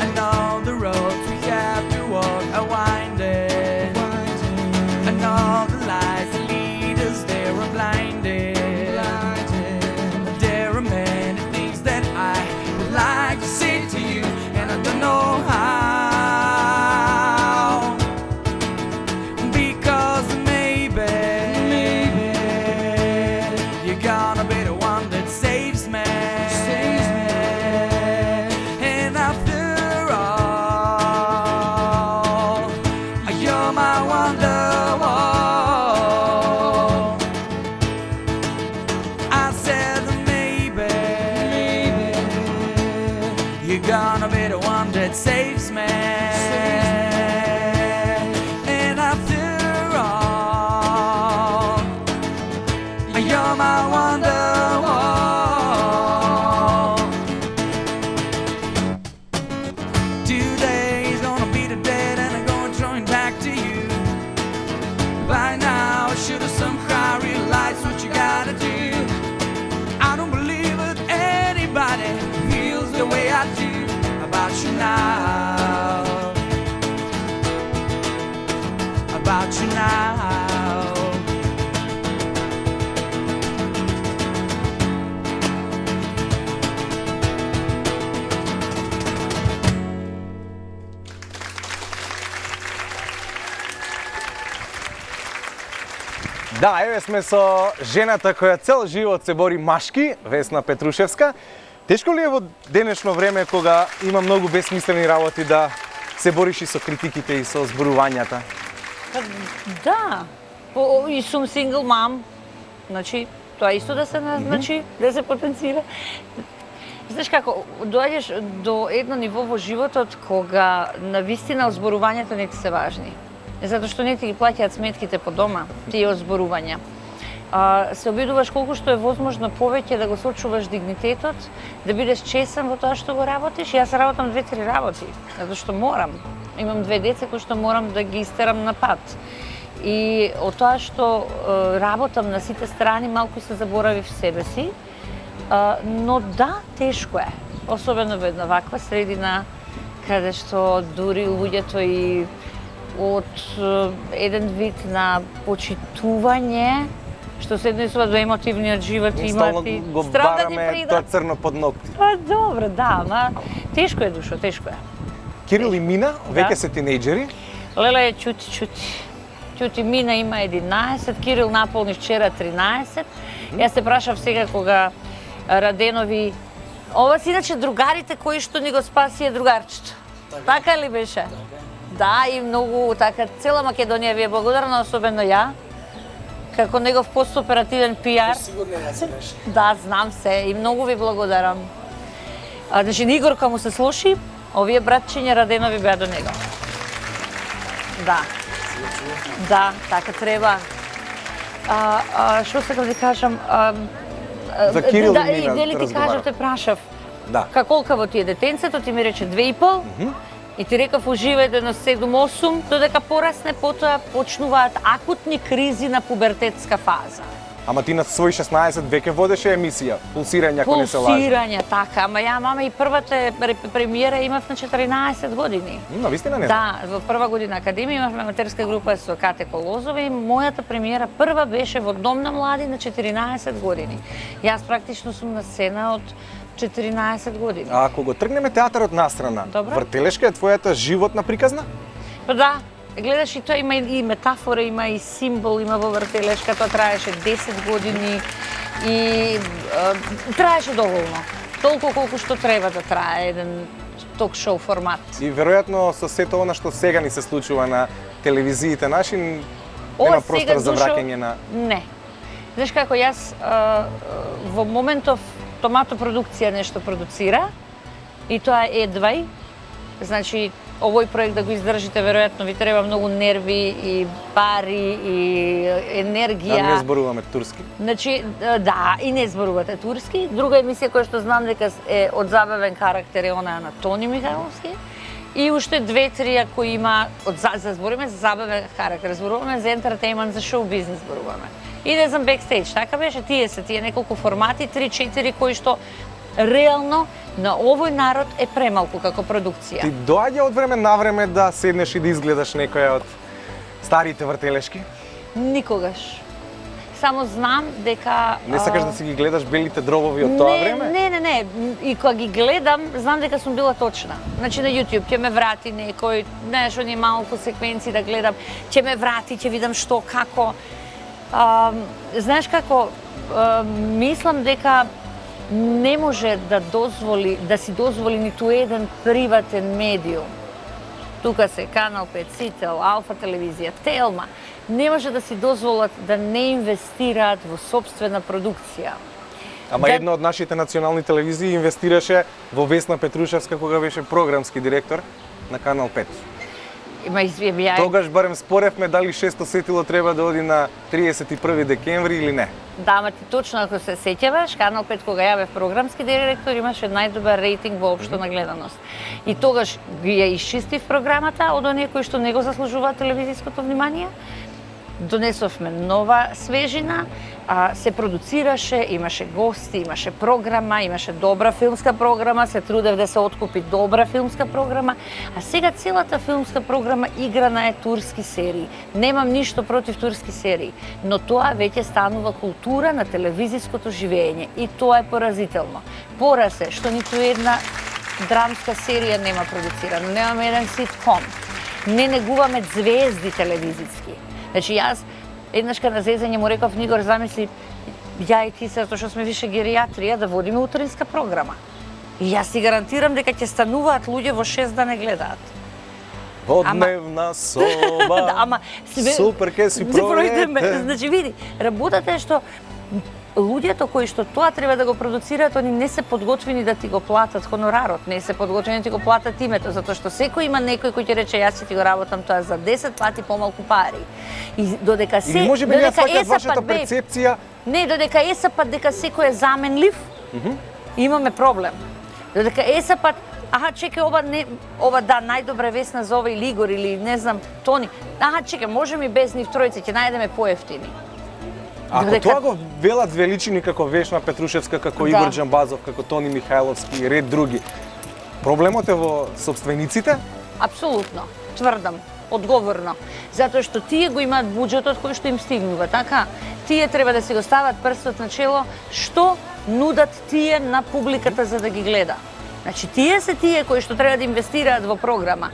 And all the roads we have to walk are winding, and all the lights that lead us there are blinded. There are many things that I would like to say to you, and I don't know how. Saves me, and after all, you're my wonderwall. Today's gonna be the day, and I'm going to join back to you. By about you now. Да, еве сме со жената која цел живот се бори машки, Весна Петрушевска. Тешко ли е во денешно време кога има многу бесмислени работи да се бориш и со критиките и со зборувањата? Да, По, и сум сингл мам, значи тоа исто да се назначи, mm -hmm. да се потенцира. Знаеш како, доаѓаш до едно ниво во животот кога навистина озборувањата не ти се важни. Затоа што не ти ги плаќаат сметките по дома, тие озборувања. А, се обидуваш колку што е возможно повеќе да го сочуваш дигнитетот, да бидеш чесен во тоа што го работиш. Јас работам две-три работи, затоа што морам. Имам две деца кои што морам да ги истерам на пат. И од тоа што е, работам на сите страни, малку се заборавив себе си. А, но да, тешко е. Особено во една ваква средина, каде што дури луѓето и од еден вид на почитување, што се однесува до емотивниот живот и имат и го бараме тоа црно под ногти. Па добро, да, ама тешко е душо, тешко е. Кирил и Мина, веќе Да. се тинејџери. Леле е чути, чути. Чути, Мина има единаесет, Кирил наполни вчера тринаесет. Јас се прашав сега кога Раденови... Ова си иначе другарите кои што ни го спаси е другарчето. Така ли беше? Да, и многу, така, цела Македонија ви е благодарна, особено ја, како негов постоперативен пиар. Сигурно ја си беше. Да, знам се и многу ви благодарам. А, значи, Игор кога му се слуши, овие братчиња Раденови беа до него. Да. Да, така треба. А, а, што сакам да кажам? А, За Кирил да, и Мина и дали ти разговарав. кажав, те прашав. Да. Ка колкаво ти е детенцето, ти ми рече две и пол. И ти рекав уживај до на седум-осум, додека порасне, потоа почнуваат акутни кризи на пубертетска фаза. Ама ти на свој шеснаесет веќе водеше емисија, Пулсирање, ако не се лажам. Пулсирање, така. Ама ја, мама, и првата премиера имав на четиринаесет години. На вистина не знам. Да, во прва година академија имавме аматерска група со Кате Колозова и мојата премиера прва беше во Дом на млади на четиринаесет години. Јас практично сум на сцена од четиринаесет години. А ако го тргнеме театарот настрана, Добро. Вртелешка е твојата животна приказна? Па да, гледаш и тоа има и метафора, има и символ, има во Вртелешка, тоа траеше десет години и е, траеше доволно. Толку колку што треба да трае еден ток-шоу формат. И веројатно со сето она што сега ни се случува на телевизиите наши, Ова нема сега простор за душо- враќање на... Не. Знаеш како, јас а, во моментов Томато продукција нешто продуцира и тоа е едвај. Значи, овој проект да го издржите, веројатно ви треба многу нерви и пари и енергија. Да не зборуваме турски. Значи, да, и не зборувате турски. Друга емисија која што знам дека е од забавен карактер е она на Тони Михайловски. И уште две-три кои има од за, за зборуваме за забавен карактер, зборуваме за ентертејмент, за шоу бизнес зборуваме. И не знам бекстејдж, така беше, тие се тие неколку формати, три-четири кои што реално на овој народ е премалку како продукција. Ти доаѓа од време на време да седнеш и да изгледаш некоја од старите вртелешки? Никогаш. Само знам дека... Не сакаш а, да си ги гледаш белите дробови од тоа не, време? Не, не, не. И кога ги гледам, знам дека сум била точна. Значи на YouTube ќе ме врати некој, знаеш, они малку секвенци да гледам, ќе ме врати, ќе видам што, како. А, знаеш како, а, мислам дека не може да дозволи, да си дозволи ниту еден приватен медиум. Тука се Канал пет, Сител, Алфа телевизија, Телма, не може да си дозволат да не инвестираат во собствена продукција. Ама Да- една од нашите национални телевизии инвестираше во Весна Петрушевска кога беше програмски директор на Канал пет. Има извија. Тогаш барем споревме дали шесто сетило треба да оди на триесет и први декември или не. Да, ама ти точно ако се сеќаваш, Канал пет кога ја бев програмски директор имаше најдобар рейтинг воопшто на гледаност. И тогаш ги ја исчистив програмата од оние кои што не го заслужуваат телевизиското внимание Донесовме нова свежина, а, се продуцираше, имаше гости, имаше програма, имаше добра филмска програма, се трудев да се откупи добра филмска програма, а сега целата филмска програма играна е турски серии. Немам ништо против турски серии, но тоа веќе станува култура на телевизиското живење и тоа е поразително. Пораз е што ниту една драмска серија нема продуцирано, немаме еден ситком, не негуваме звезди телевизиски. Значи јас еднашка на зезање му реков Нигор, замисли ја и ти се, затоа што сме више геријатрија, да водиме утринска програма. И јас си гарантирам дека ќе стануваат луѓе во шест да не гледаат. Во дневна соба, да, ама, супер ке си пројдете. Значи види, работата е што луѓето кои што тоа треба да го продуцираат, они не се подготвени да ти го платат хонорарот, не се подготвени да ти го платат името, затоа што секој има некој кој ќе рече јас ќе ти го работам тоа за десет пати помалку пари. И додека се Или може би не сваќаат вашата перцепција? Не, додека есапат дека секој е заменлив, mm -hmm. имаме проблем. Додека есапат аха, чекај, ова не, ова да, најдобра весна за овој Лигор или не знам, Тони. Аха, чекај, можеме без нив тројца, ќе најдеме поевтини. Ако Додека... тоа го велат величини како Вешна Петрушевска, како да. Игор Џамбазов, како Тони Михајловски и ред други, проблемот е во собствениците? Апсолутно, тврдам, одговорно. Затоа што тие го имаат буџетот кој што им стигнува, така? Тие треба да си го стават прстот на чело, што нудат тие на публиката за да ги гледа. Значи, тие се тие кои што треба да инвестираат во програма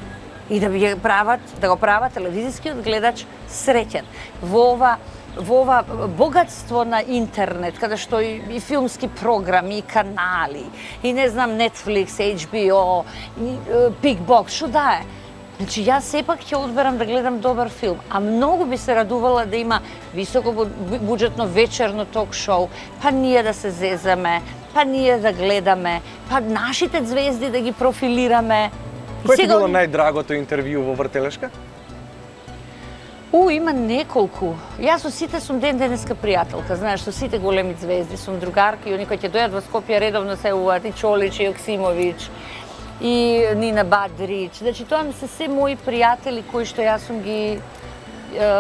и да ги прават, да го прават телевизискиот гледач среќен. Во ова во ова богатство на интернет, каде што и, и филмски програми, и канали, и не знам Netflix, H B O, и, Pickbox, што да е. Значи, јас сепак ќе одберам да гледам добар филм, а многу би се радувала да има високо буџетно вечерно ток-шоу, па ние да се зезаме, па ние да гледаме, па нашите звезди да ги профилираме. Кој ти било најдрагото интервју во Вртелешка? У, има неколку. Јас со сите сум ден денеска пријателка, знаеш, со сите големи звезди сум другарки, и они кои ќе дојдат во Скопје редовно се уваат, и Чолич, и Јоксимовиќ, и Нина Бадрич. Значи, тоа ми се се мои пријатели кои што јас сум ги е,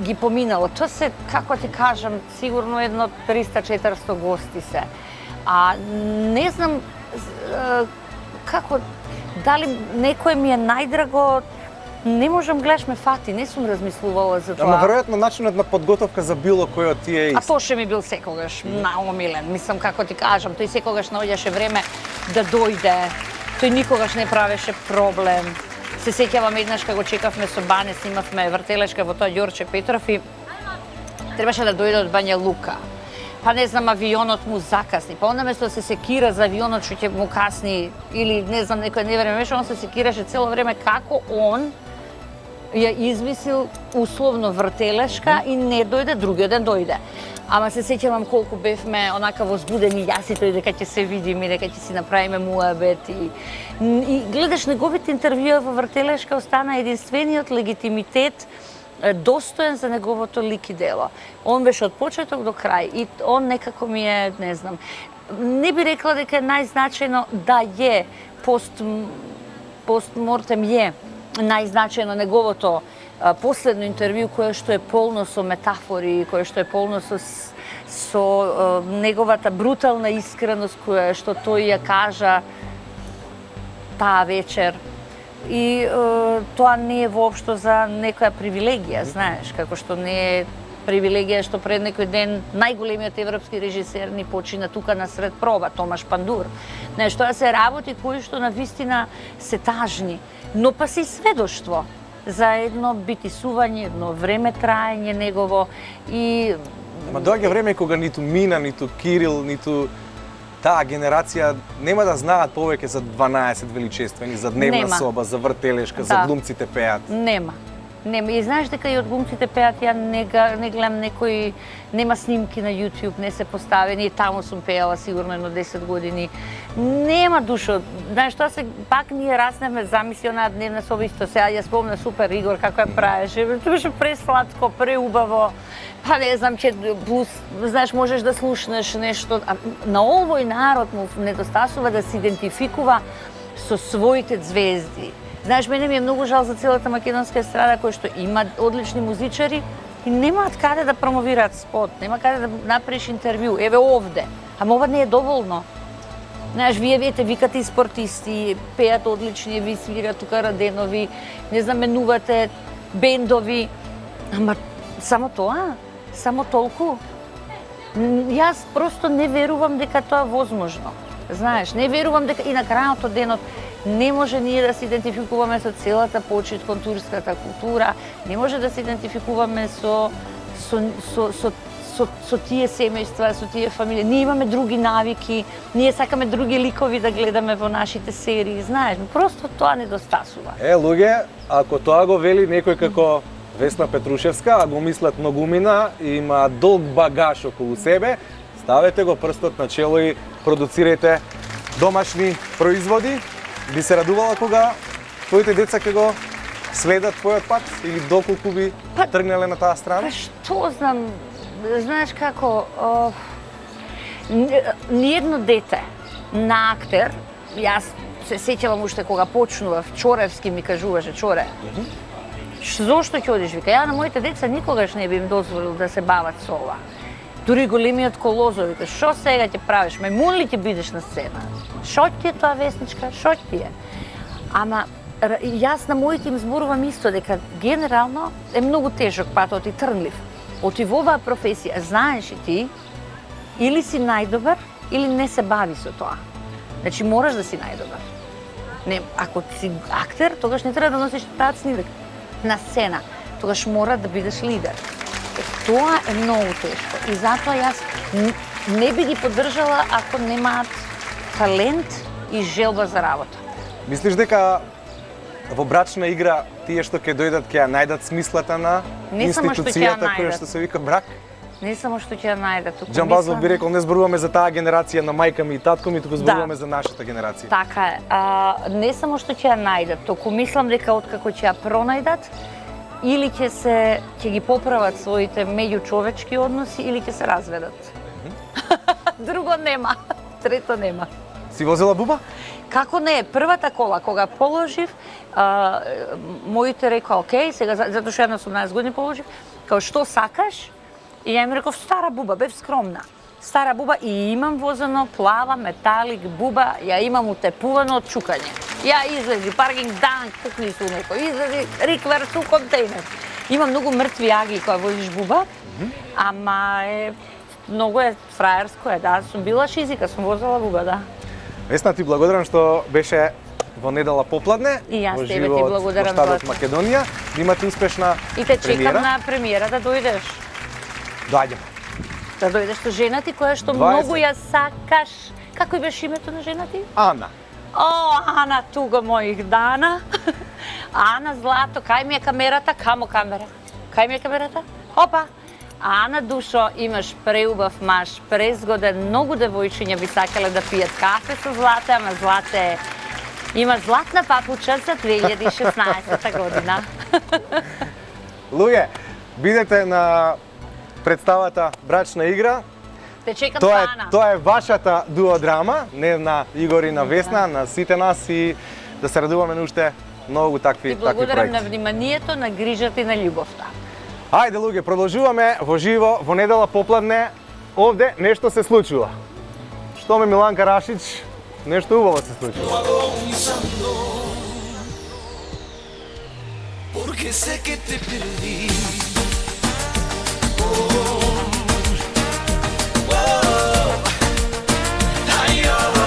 ги поминала. Тоа се, како ти кажам, сигурно едно триста-четиристо гости се. А не знам е, како, дали некој ми е најдраго, не можам, гледаш ме фати, не сум размислувала за тоа. Ама веројатно начинот на подготовка за било кој од тие е ист. А тоа ше ми бил секогаш наомилен. Мислам, како ти кажам, тој секогаш наоѓаше време да дојде. Тој никогаш не правеше проблем. Се сеќавам еднаш кога го чекавме со Бане, снимавме Вртелешка во тоа Ѓорче Петров и требаше да дојде од Бања Лука. Па не знам, авионот му закасни. Па onda место да се секира за авионот што ќе му касни или не знам, некој не време беше, он се секираше цело време како он ја измислил условно Вртелешка и не дојде, другиот ден дојде. Ама се сеќавам колку бевме онака возбудени јас и тој дека ќе се видиме, дека ќе си направиме муабет и, и гледаш неговите интервјуа во Вртелешка, остана единствениот легитимитет достоен за неговото лик и дело. Он беше од почеток до крај и он некако ми е, не знам, не би рекла дека е најзначајно, да е пост постмортем е најзначајно неговото а, последно интервју кое што е полно со метафори, кое што е полно со со а, неговата брутална искреност која што тој ја кажа таа вечер. И а, тоа не е воопшто за некоја привилегија, знаеш, како што не е привилегија што пред некој ден најголемиот европски режисер ни почина тука на сред проба, Томаш Пандур. Знаеш, тоа се работи кои што на вистина се тажни, но па се и сведоштво за едно битисување, едно време траење негово и... Ама доаѓа време кога ниту Мина, ниту Кирил, ниту таа генерација нема да знаат повеќе за дванаесет величествени, за Дневна нема. Соба, за Вртелешка, да. За Глумците пеат. Нема. Нема. И знаеш дека и од Глумците пеат, ја не, не гледам некои, нема снимки на YouTube, не се поставени, и таму сум пеала сигурно едно десет години. Нема душо. Знаеш, тоа се, пак ние раснеме замисли онаа Дневна соба, исто сега ја спомна супер Игор како ја правеше. Тоа беше пресладко, преубаво. Па не знам, че плюс, знаеш, можеш да слушнеш нешто. А на овој народ му недостасува да се идентификува со своите звезди. Знаеш, мене ми е многу жал за целата македонска естрада која што има одлични музичари и немаат каде да промовираат спот, нема каде да направиш интервју. Еве овде. Ама ова не е доволно. Знаеш, вие вете, викате и спортисти, пеат одлични, ви свират тука Раденови, не знаменувате бендови. Ама само тоа? Само толку? Јас просто не верувам дека тоа е возможно. Знаеш, не верувам дека и на крајот од денот не може ние да се идентификуваме со целата почит кон турската култура, не може да се идентификуваме со со со со со, со тие семејства, со тие фамилии. Ние имаме други навики, ние сакаме други ликови да гледаме во нашите серии, знаеш, просто тоа недостасува. Е, луѓе, ако тоа го вели некој како Весна Петрушевска, а го мислат многумина и има долг багаж околу себе, ставете го прстот на чело и продуцирајте домашни производи. Би се радувала кога твоите деца ќе го следат твојот пат или доколку би па, тргнале на таа страна? Па што знам, знаеш како, о, ниедно дете на актер, јас се сеќавам уште кога почнував, Чоревски ми кажуваше, Чоре, mm-hmm. зошто ќе одиш, вика, ја на моите деца никогаш не би им дозволил да се бават со ова. Дури големиот Колозов вика, шо сега ќе правиш, мајмун ли ќе бидеш на сцена? Шо ти е тоа, Весничка, шо ти е? Ама јас на моите им зборувам исто, дека генерално е многу тежок патот и трнлив. Оти во оваа професија, знаеш и ти, или си најдобар, или не се бави со тоа. Значи мораш да си најдобар. Не, ако си актер, тогаш не треба да носиш тацни на сцена, тогаш мора да бидеш лидер. Е, тоа е многу тешко и затоа јас не би ги поддржала ако немаат талент и желба за работа. Мислиш дека во брачна игра тие што ќе дојдат ќе ја најдат смислата на не институцијата која што се вика брак? Не само што ќе ја најдат. Џамбазов би рекол, не зборуваме за таа генерација на мајка ми и татко ми, туку зборуваме да. за нашата генерација. Така е. А, не само што ќе ја најдат, току мислам дека откако ќе ја пронајдат, или ќе се ќе ги поправат своите меѓучовечки односи или ќе се разведат. Mm-hmm. Друго нема, трето нема. Си возела буба? Како не, првата кола кога положив, а, моите рекоа, окей, сега затоа што една осумнаесет години положив, као што сакаш? И ја им реков стара буба, бев скромна. Стара буба и имам возено плава металик буба, ја имам утепувано од чукање. Ја излези паркинг дан, кукни су некој, излези риквер су контейнер. Има многу мртви аги кога возиш буба, mm-hmm. ама е многу е фраерско е, да, сум била шизика, сум возела буба, да. Весна, ти благодарам што беше во недела попладне. И јас тебе ти благодарам во штадот Македонија. Да имате успешна и те чекам премиера. на премиера да дојдеш. Доаѓаме. Да дојдеш со жена ти која што дваесет многу ја сакаш. Како беше името на жена ти? Ана. О, Ана, туга моих дана. Ана, злато, кај ми е камерата? Камо камера? Кај ми е камерата? Опа! Ана, душо, имаш преубав маж, презгоден, многу девојчиња би сакале да пијат кафе со Злате, ама Злате има златна папуча за две илјади и шеснаесета година. Луѓе, бидете на представата Брачна игра. Те чекам тоа е, Ана. Тоа е вашата дуодрама, не на Игор и на Весна, на сите нас и да се радуваме на уште многу такви, такви проекти. проекти. И благодарам на вниманието, на грижата и на љубовта. Ајде, луѓе, продолжуваме во живо, во недела попладне. Овде нешто се случува. Што ме Миланка Рашич, нешто убаво се случува. Porque sé que te perdí. Traidora,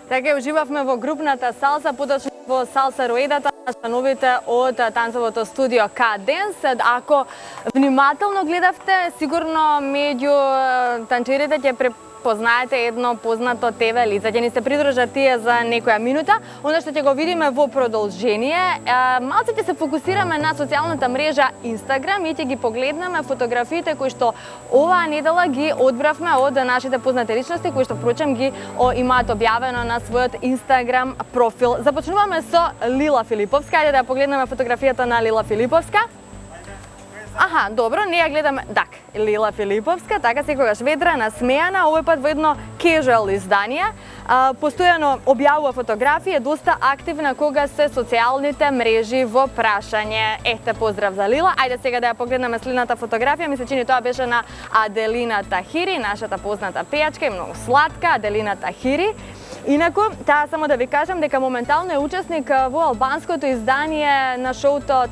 Така уживавме во групната салса, поточно во салса руедата на членовите од танцовото студио K-Dance. Ако внимателно гледавте, сигурно меѓу танчерите ќе препознаете едно познато Те Ве лице. Ќе ни се придружат тие за некоја минута. Оно што ќе го видиме во продолжение, малце ќе се фокусираме на социјалната мрежа Instagram и ќе ги погледнеме фотографиите кои што оваа недела ги одбравме од нашите познати личности, кои што впрочем ги о, имаат објавено на својот Instagram профил. Започнуваме со Лила Филиповска. Ајде да погледнеме фотографијата на Лила Филиповска. Аха, добро, не ја гледаме. Так, Лила Филиповска, така секогаш ведра, насмејана, овој пат во едно casual издание. А, постојано објавува фотографии, е доста активна кога се социјалните мрежи во прашање. Ете, поздрав за Лила. Ајде сега да ја погледнеме следната фотографија. Ми се чини тоа беше на Аделина Тахири, нашата позната пејачка и многу сладка Аделина Тахири. Инаку, таа само да ви кажам дека моментално е учесник во албанското издание на шоуто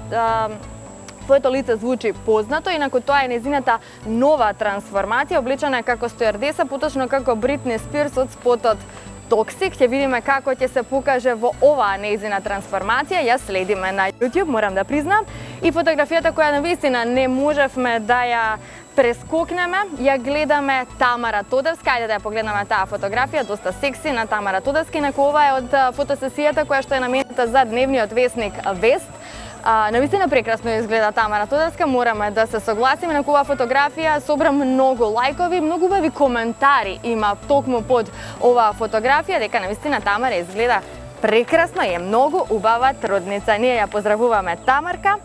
Твоето лице звучи познато, инаку тоа е незината нова трансформација, облечена како стюардеса, поточно како Бритни Спирс од спотот Toxic. Ќе видиме како ќе се покаже во оваа незина трансформација. Ја следиме на YouTube, морам да признам. И фотографијата која навистина не можевме да ја прескокнеме, ја гледаме Тамара Тодевска. Ајде да ја погледнеме таа фотографија, доста секси на Тамара Тодевска. Инаку ова е од фотосесијата која што е наменета за дневниот весник Вест. А, навистина прекрасно изгледа Тамара Тодевска, мораме да се согласиме. На оваа фотографија собра многу лајкови, многу убави коментари има токму под оваа фотографија, дека навистина Тамара изгледа прекрасно и е многу убава трудница. Ние ја поздравуваме Тамарка.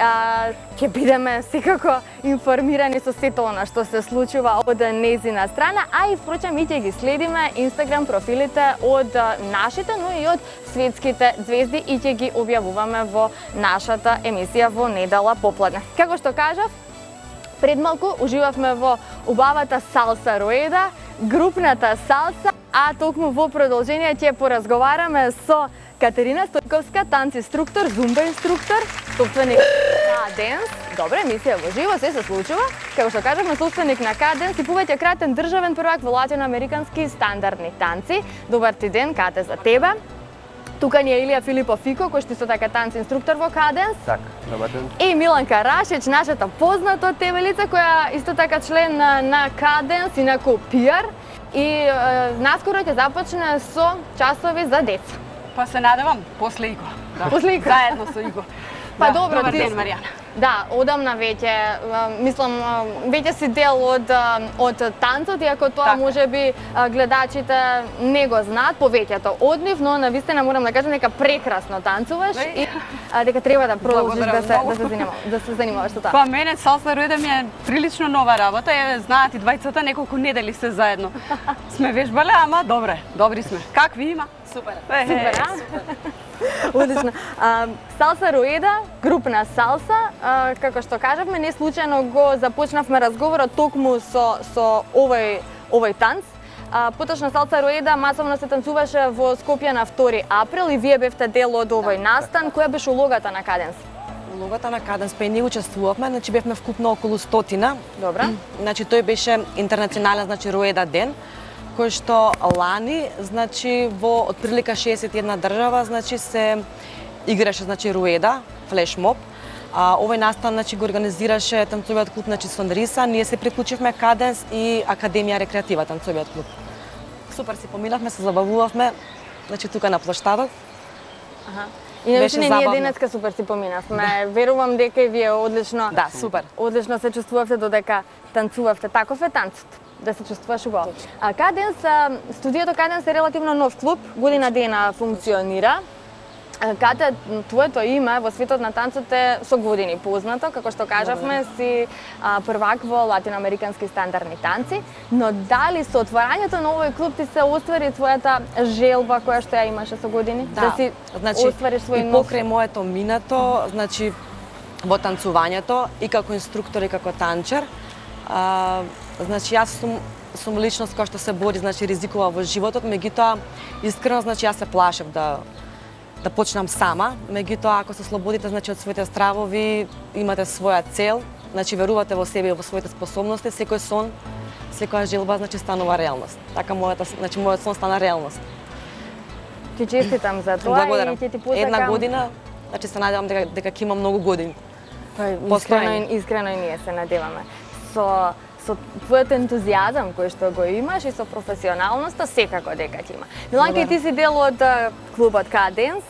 А, ќе бидеме секако информирани со сето она што се случува од незина страна, а и впрочем и ќе ги следиме Инстаграм профилите од нашите, но и од светските звезди и ќе ги објавуваме во нашата емисија во недела попладне. Како што кажав, пред малку уживавме во убавата салса руеда, групната салса, а токму во продолжение ќе поразговараме со Катерина Стојковска, танц инструктор, зумба инструктор, собственик на K-Dance. Добре, емисија во живо, се се случува. Како што кажавме, собственик на K-Dance и повеќе кратен државен првак во латиноамерикански стандардни танци. Добар ти ден, Кате, за тебе. Тука ни е Илија Филипов Фико, кој што исто така танц инструктор во K-Dance. Така, добар ден. И Миланка Рашич, нашата позната Те Ве лице, која исто така член на, на K-Dance, инаку пиар. И е, наскоро ќе започне со часови за деца. Па се надевам, после Иго. Да. После Иго? Заедно со Иго. Па да, добро, добар ти... ден, Маријана. Да, одамна веќе, мислам, веќе си дел од, од танцот, иако тоа така. може би гледачите не го знаат, повеќето од нив, но навистина морам да кажам дека прекрасно танцуваш и а, дека треба да продолжиш да се, да се занимаваш, да се занимаваш со тоа. Па мене салса руеда ми е прилично нова работа, е, знаат и двајцата, неколку недели се заедно. Сме вежбале, ама добре, добри сме. Какви има? Супер. Е, Супер, а? Одлично. А, салса руеда, групна салса, а, како што кажавме, не случајно го започнавме разговорот токму со, со овој, овој танц. А, поточно салса руеда масовно се танцуваше во Скопје на втори април и вие бевте дел од овој настан. Која беше улогата на K-Dance? Улогата на K-Dance, па и ние учествувавме, значи бевме вкупно околу стотина. Добра. Значи тој беше интернационален, значи руеда ден, кој што лани, значи во отприлика шеесет и една држава, значи се играше, значи руеда, флешмоб. А, овој настан, значи го организираше танцовиот клуб, значи Сонриса, ние се приклучивме K-Dance и Академија рекреатива танцовиот клуб. Супер си поминавме, се забавувавме, значи тука на площадот. Аха. Иначе не, ние денеска супер си поминавме. Да. Верувам дека и вие одлично. Да, супер. Одлично се чувствувавте додека танцувавте. Таков е танцот. Да се чувствуваш убаво. А K-Dance, студиото K-Dance е релативно нов клуб, година дена функционира. Кате, твоето име во светот на танцот е со години познато, како што кажавме, си а, првак во латиноамерикански стандардни танци, но дали со отварањето на овој клуб ти се оствари твојата желба која што ја имаше со години? Да, да си значи, оствариш свој и покрај моето минато, значи во танцувањето и како инструктор и како танчер, а, значи јас сум сум личност која што се бори, значи ризикува во животот, меѓутоа искрено значи јас се плашев да да почнам сама, меѓутоа ако се слободите значи од своите стравови, имате своја цел, значи верувате во себе и во своите способности, секој сон, секоја желба значи станува реалност. Така мојата, значи мојот сон стана реалност. Ти честитам за тоа Благодарам. и ќе ти посакам Една година, значи се надевам дека дека ќе има многу години. Па, искрено, Постојани. искрено и ние се надеваме. Со со твојот ентузијазам кој што го имаш и со професионалноста секако дека ќе има. Миланка, и ти си дел од а, клубот Каденс,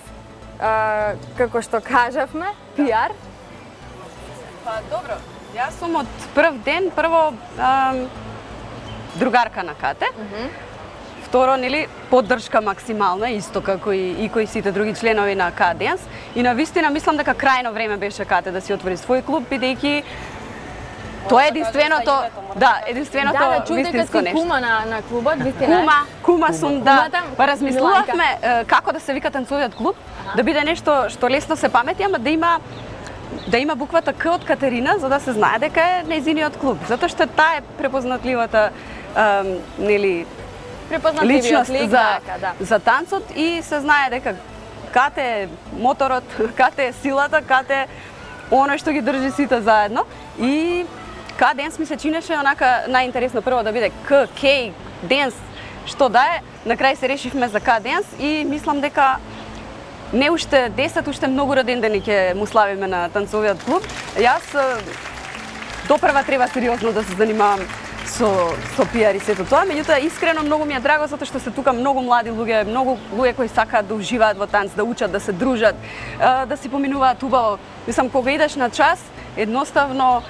а, како што кажавме, пиар. Па добро, јас сум од прв ден прво ам, другарка на Кате. Второ, нели, поддршка максимална, исто како и, и кои сите други членови на Каденс. И на вистина мислам дека крајно време беше Кате да си отвори свој клуб, бидејќи тоа е единственото, да, единственото Да, да, чув дека вистинско си нешто. кума на, на клубот, вистина. Кума, кума сум, да. Кумата, Па размислувавме Миланка. е, како да се вика танцовиот клуб, да биде нешто што лесно се памети, ама да има да има буквата К од Катерина, за да се знае дека е нејзиниот клуб, затоа што таа е препознатливата ем, нели Препознатливиот личност лик, за така, да. за танцот и се знае дека Кате е моторот, Кате е силата, Кате е оно што ги држи сите заедно и К-денс ми се чинеше онака најинтересно прво да биде К, К, денс, што да е. На крај се решивме за К-денс и мислам дека не уште десет, уште многу родендени ќе му славиме на танцовиот клуб. Јас е, допрва треба сериозно да се занимавам со со пиар и сето тоа, меѓутоа искрено многу ми е драго затоа што се тука многу млади луѓе, многу луѓе кои сакаат да уживаат во танц, да учат, да се дружат, е, да си поминуваат убаво. Мислам кога идеш на час, едноставно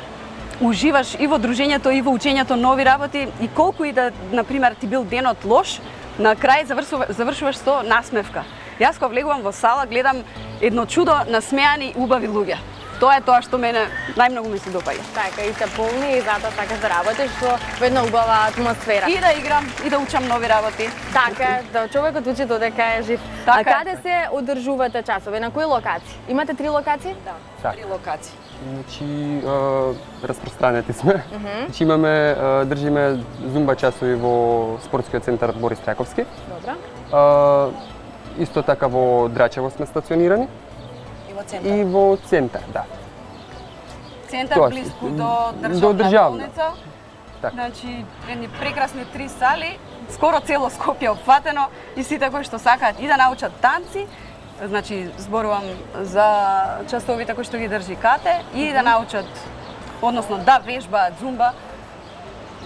уживаш и во дружењето и во учењето нови работи и колку и да, на пример, ти бил денот лош, на крај завршуваш, завршуваш со насмевка. Јас кога влегувам во сала, гледам едно чудо насмеани убави луѓе. Тоа е тоа што мене најмногу ми се допаѓа. Така, и се полни и затоа сакаш да работиш во во една убава атмосфера. И да играм, и да учам нови работи. Така, да човекот учи додека е жив. Така а е. каде се одржувате часове? На кои локации? Имате три локации? Да, Так. три локации. Значи, е, распространети сме. Мгм. Значи имаме, е, држиме зумба часови во спортскиот центар Борис Трајковски. Добра. Е, исто така во Драчево сме стационирани. И во центар. И во центар, да. Центар Тоа, близко до до државна државна. болница. Така. Значи, едни прекрасни три сали, скоро цело Скопје опфатено и сите кои што сакаат и да научат танци, значи зборувам за часовите кои што ги држи Кате и да научат, односно да вежбаат зумба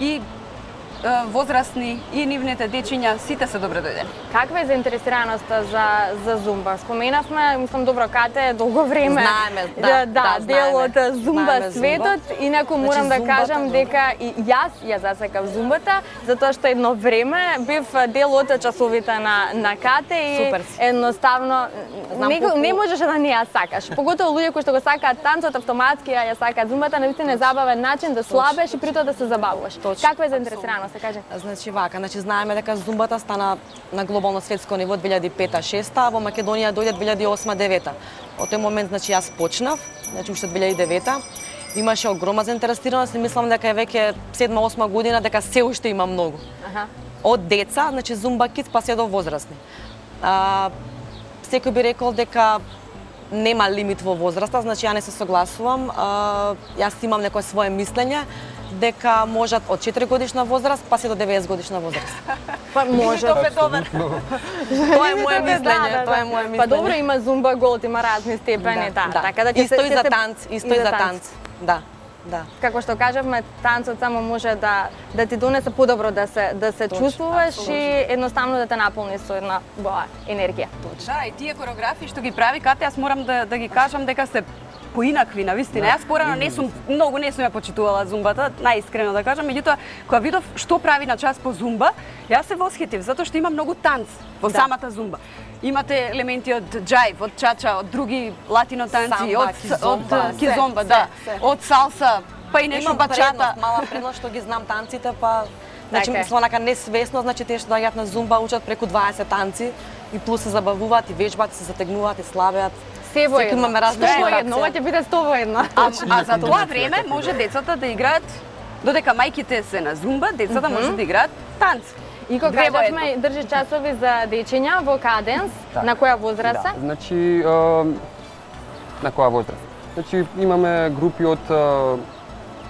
и е, возрастни и нивните дечиња, сите се добре дојдени. Каква е заинтересираноста за за зумба? Споменавме, мислам добро Кате долго време. Знаеме, да, да, да, дел знаеме. од зумба Знаеме светот, зумба. инаку Значи, морам да зумбата, кажам добро. дека и јас ја засакав зумбата, затоа што едно време бев дел од часовите на на Кате и Супер. едноставно Знам не, колку- не можеше да не ја сакаш. Поготово луѓе кои што го сакаат танцот автоматски ја ја сакаат зумбата, навистина е забавен начин да слабеш и притоа да се забавуваш. Точно, Каква е заинтересираноста, кажи? Значи вака, значи знаеме дека зумбата стана на глобално светско ниво две илјади и пета шеста, а во Македонија дојде две илјади и осма девета. Од тој момент значи јас почнав, значи уште две илјади и девета. Имаше огромна заинтересираност и мислам дека е веќе седма осма година дека се уште има многу. Аха. Од деца, значи зумба кидс па се до возрастни. А, секој би рекол дека нема лимит во возраста, значи ја не се согласувам. А, јас имам некое свое мислење дека можат од четири годишна возраст па се до деветдесет годишна возраст. Па може. Тоа е мое мислење, тоа е мое мислење. Па добро, има зумба голд, има разни степени, да. Така да ќе Исто се- и ќе за се- танц, исто и за танц. Да, да. Како што кажавме, танцот само може да да ти донесе подобро да се да се Точно, чувствуваш апсолутно. и едноставно да те наполни со една убава енергија. Да, и тие кореографии што ги прави Кате, јас морам да, да ги кажам дека се поинакви на вистина. Јас порано не сум многу не сум ја почитувала зумбата, најискрено да кажам, меѓутоа кога видов што прави на час по зумба, јас се восхитив затоа што има многу танц во Да. самата зумба. Имате елементи од џајв, од чача, од други латино танци, Самба, од кизомба, од кизомба, се, да, се, се. од салса, па и нешто Имам бачата. предност, мала предност што ги знам танците, па значи Така е. мислам онака несвесно, значи тие што доаѓаат на зумба учат преку дваесет танци и плюс се забавуваат и вежбаат, и се затегнуваат и слабеат. Се во Секој едно. имаме различни Сто во едно, реакции. ова ќе биде сто во едно. А, а за тоа време може децата да играат, додека мајките се на зумба, децата може да играат танц. И кога Две во кажавме, држи часови за дечиња во Каденс, Так. на која возраст се? Да, значи, е, на која возраст? Значи, имаме групи од е,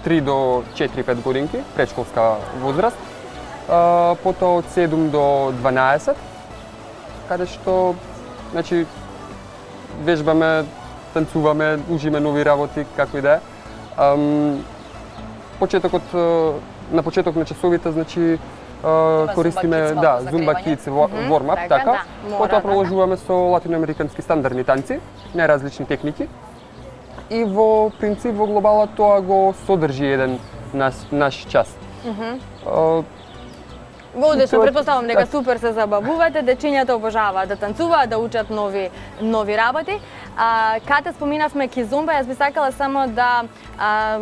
три до четири-пет годинки, предшколска возраст, е, потоа од седум до дванаесет каде што значи вежбаме, танцуваме, ужиме нови работи, како и да е. Почетокот на почеток на часовите, значи користиме да, Zumba Kids warm-up, така. Потоа продолжуваме со латиноамерикански стандардни танци, најразлични техники. И во принцип во глобала тоа го содржи еден наш, наш час. Одлично, претпоставам дека супер се забавувате, дечињата обожаваат да танцуваат, да учат нови нови работи. А, каде споминавме кизумба, јас би сакала само да а,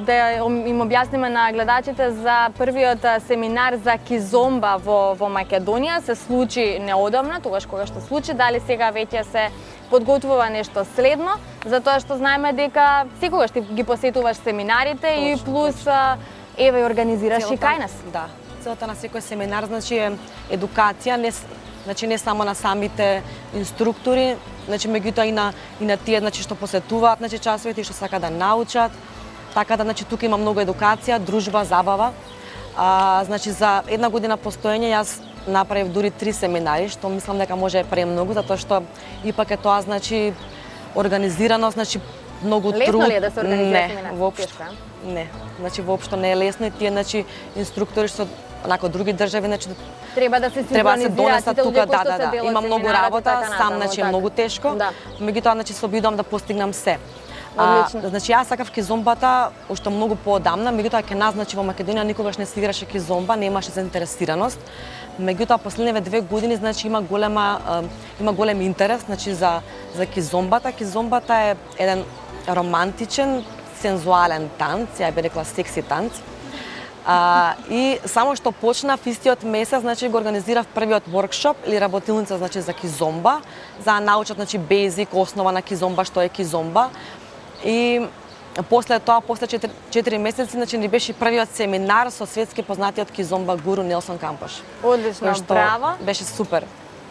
да им објасниме на гледачите за првиот семинар за кизомба во во Македонија. Се случи неодамна, тогаш кога што случи, дали сега веќе се подготвува нешто следно, затоа што знаеме дека секогаш ти ги посетуваш семинарите и плюс еве организираш и кај нас. Да. Целта на секој семинар значи е едукација, не значи не само на самите инструктори, значи меѓутоа и на и на тие значи што посетуваат значи часовите и што сакаат да научат. Така да значи тука има многу едукација, дружба, забава. А, значи за една година постоење јас направив дури три семинари, што мислам дека може премногу, затоа што ипак е тоа значи организирано, значи многу труд. Лесно ли е да се организира семинар? Не, воопшто. Не, значи воопшто не е лесно и тие значи инструктори што онако други држави значи треба да се треба да се донесат тука, да, да, да. Има многу работа, сам значи е многу тешко. Да. Меѓутоа значи се обидувам да постигнам се. А, значи јас сакав кизомбата уште многу поодамна, меѓутоа ќе нас значи во Македонија никогаш не се играше кизомба, немаше заинтересираност. Меѓутоа последниве две години значи има голема има голем интерес значи за за кизомбата. Кизомбата е еден романтичен, сензуален танц, ја би рекла секси танц. А, и само што почнав истиот месец, значи го организирав првиот воркшоп или работилница значи за кизомба, за да научат значи безик, основа на кизомба, што е кизомба. И после тоа, после четири месеци, значи ни беше првиот семинар со светски познатиот кизомба гуру Нелсон Кампош. Одлично, браво. Беше супер.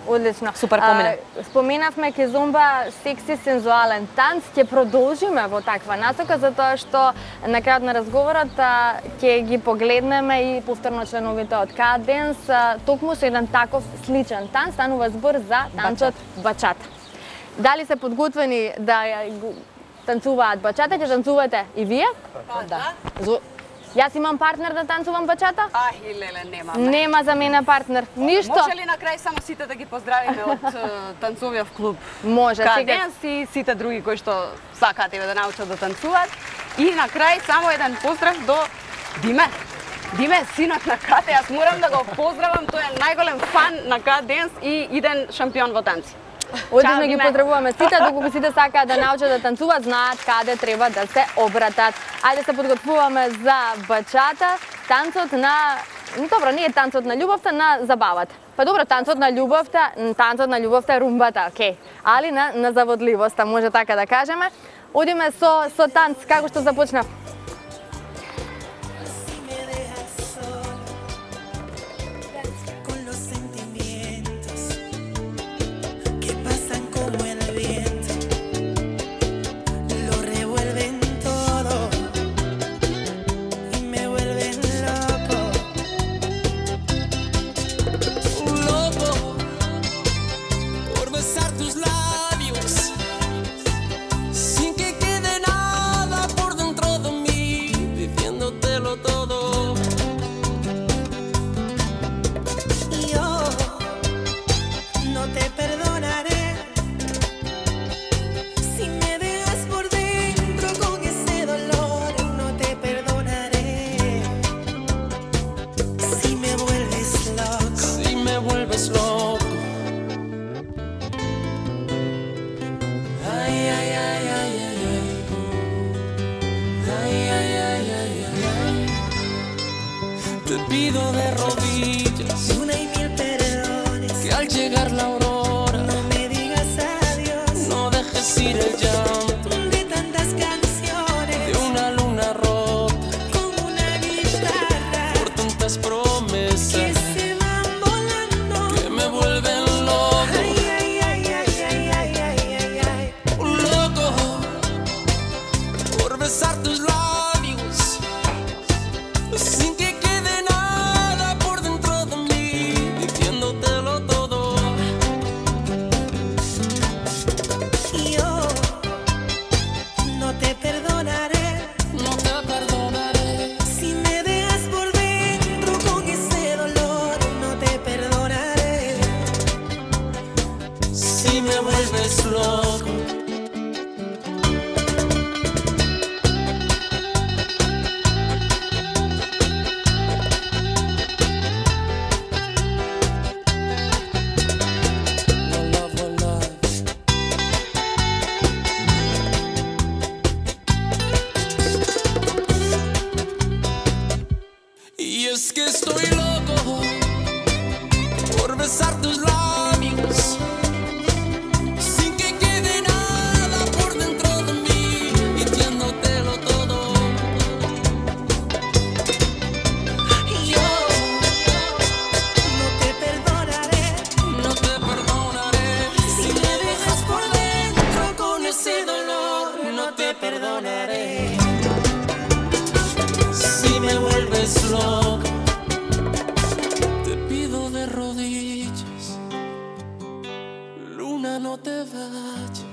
Одлично. Супер помина. А, споменавме кизомба, секси, сензуален танц. Ќе продолжиме во таква насока, затоа што на крајот на разговорот ќе ги погледнеме и повторно членовите од Ka Dance, токму со еден таков сличен танц, станува збор за танцот бачата. Дали се подготвени да танцуваат бачата, ќе танцувате и вие? Да. Јас имам партнер да танцувам бачата? Ах, леле, нема. Нема за мене партнер. Ништо. Може ли на крај само сите да ги поздравиме од танцовиот клуб? Може, Ka сега. Dance и сите други кои што сакаат еве да научат да танцуваат. И на крај само еден поздрав до Диме. Диме, синот на Кате, јас морам да го поздравам, тој е најголем фан на Ka Dance и иден шампион во танци. Одлично ги поздравуваме сите, доколку сите сакаат да научат да танцуваат, знаат каде треба да се обратат. Ајде се подготвуваме за бачата, танцот на добро, не е танцот на љубовта, на забавата. Па добро, танцот на љубовта, танцот на љубовта е румбата, окей. Али на на заводливоста, може така да кажеме. Одиме со со танц, како што започнав. Sin que quede nada por dentro que estoy loco por besar tus labios sin que quede nada por dentro de mí, mintiéndotelo todo. Y yo no te perdonaré, no te perdonaré si me dejas por dentro con ese dolor. No te perdonaré si me vuelves loco. Te pido de rodillas, luna, no te vayas.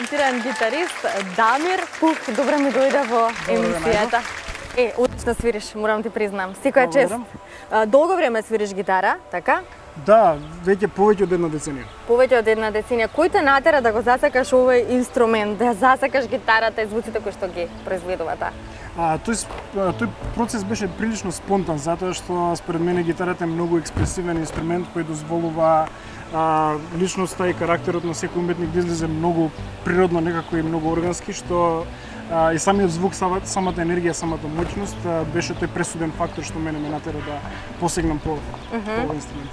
талентиран гитарист Дамир Пух. Добре ми дојде во емисијата. Е, одлично свириш, морам ти признам. Секоја чест. Долго време свириш гитара, така? Да, веќе повеќе од една деценија. Повеќе од една деценија. Кој те натера да го засакаш овој инструмент, да засакаш гитарата и звуците кои што ги произведува таа? А, тој, тој процес беше прилично спонтан, затоа што според мене гитарата е многу експресивен инструмент кој дозволува а, личноста и карактерот на секој уметник да излезе многу природно, некако и многу органски, што а, и самиот звук, самата енергија, самата моќност а, беше тој пресуден фактор што мене ме натера да посегнам по, mm -hmm. по овој инструмент.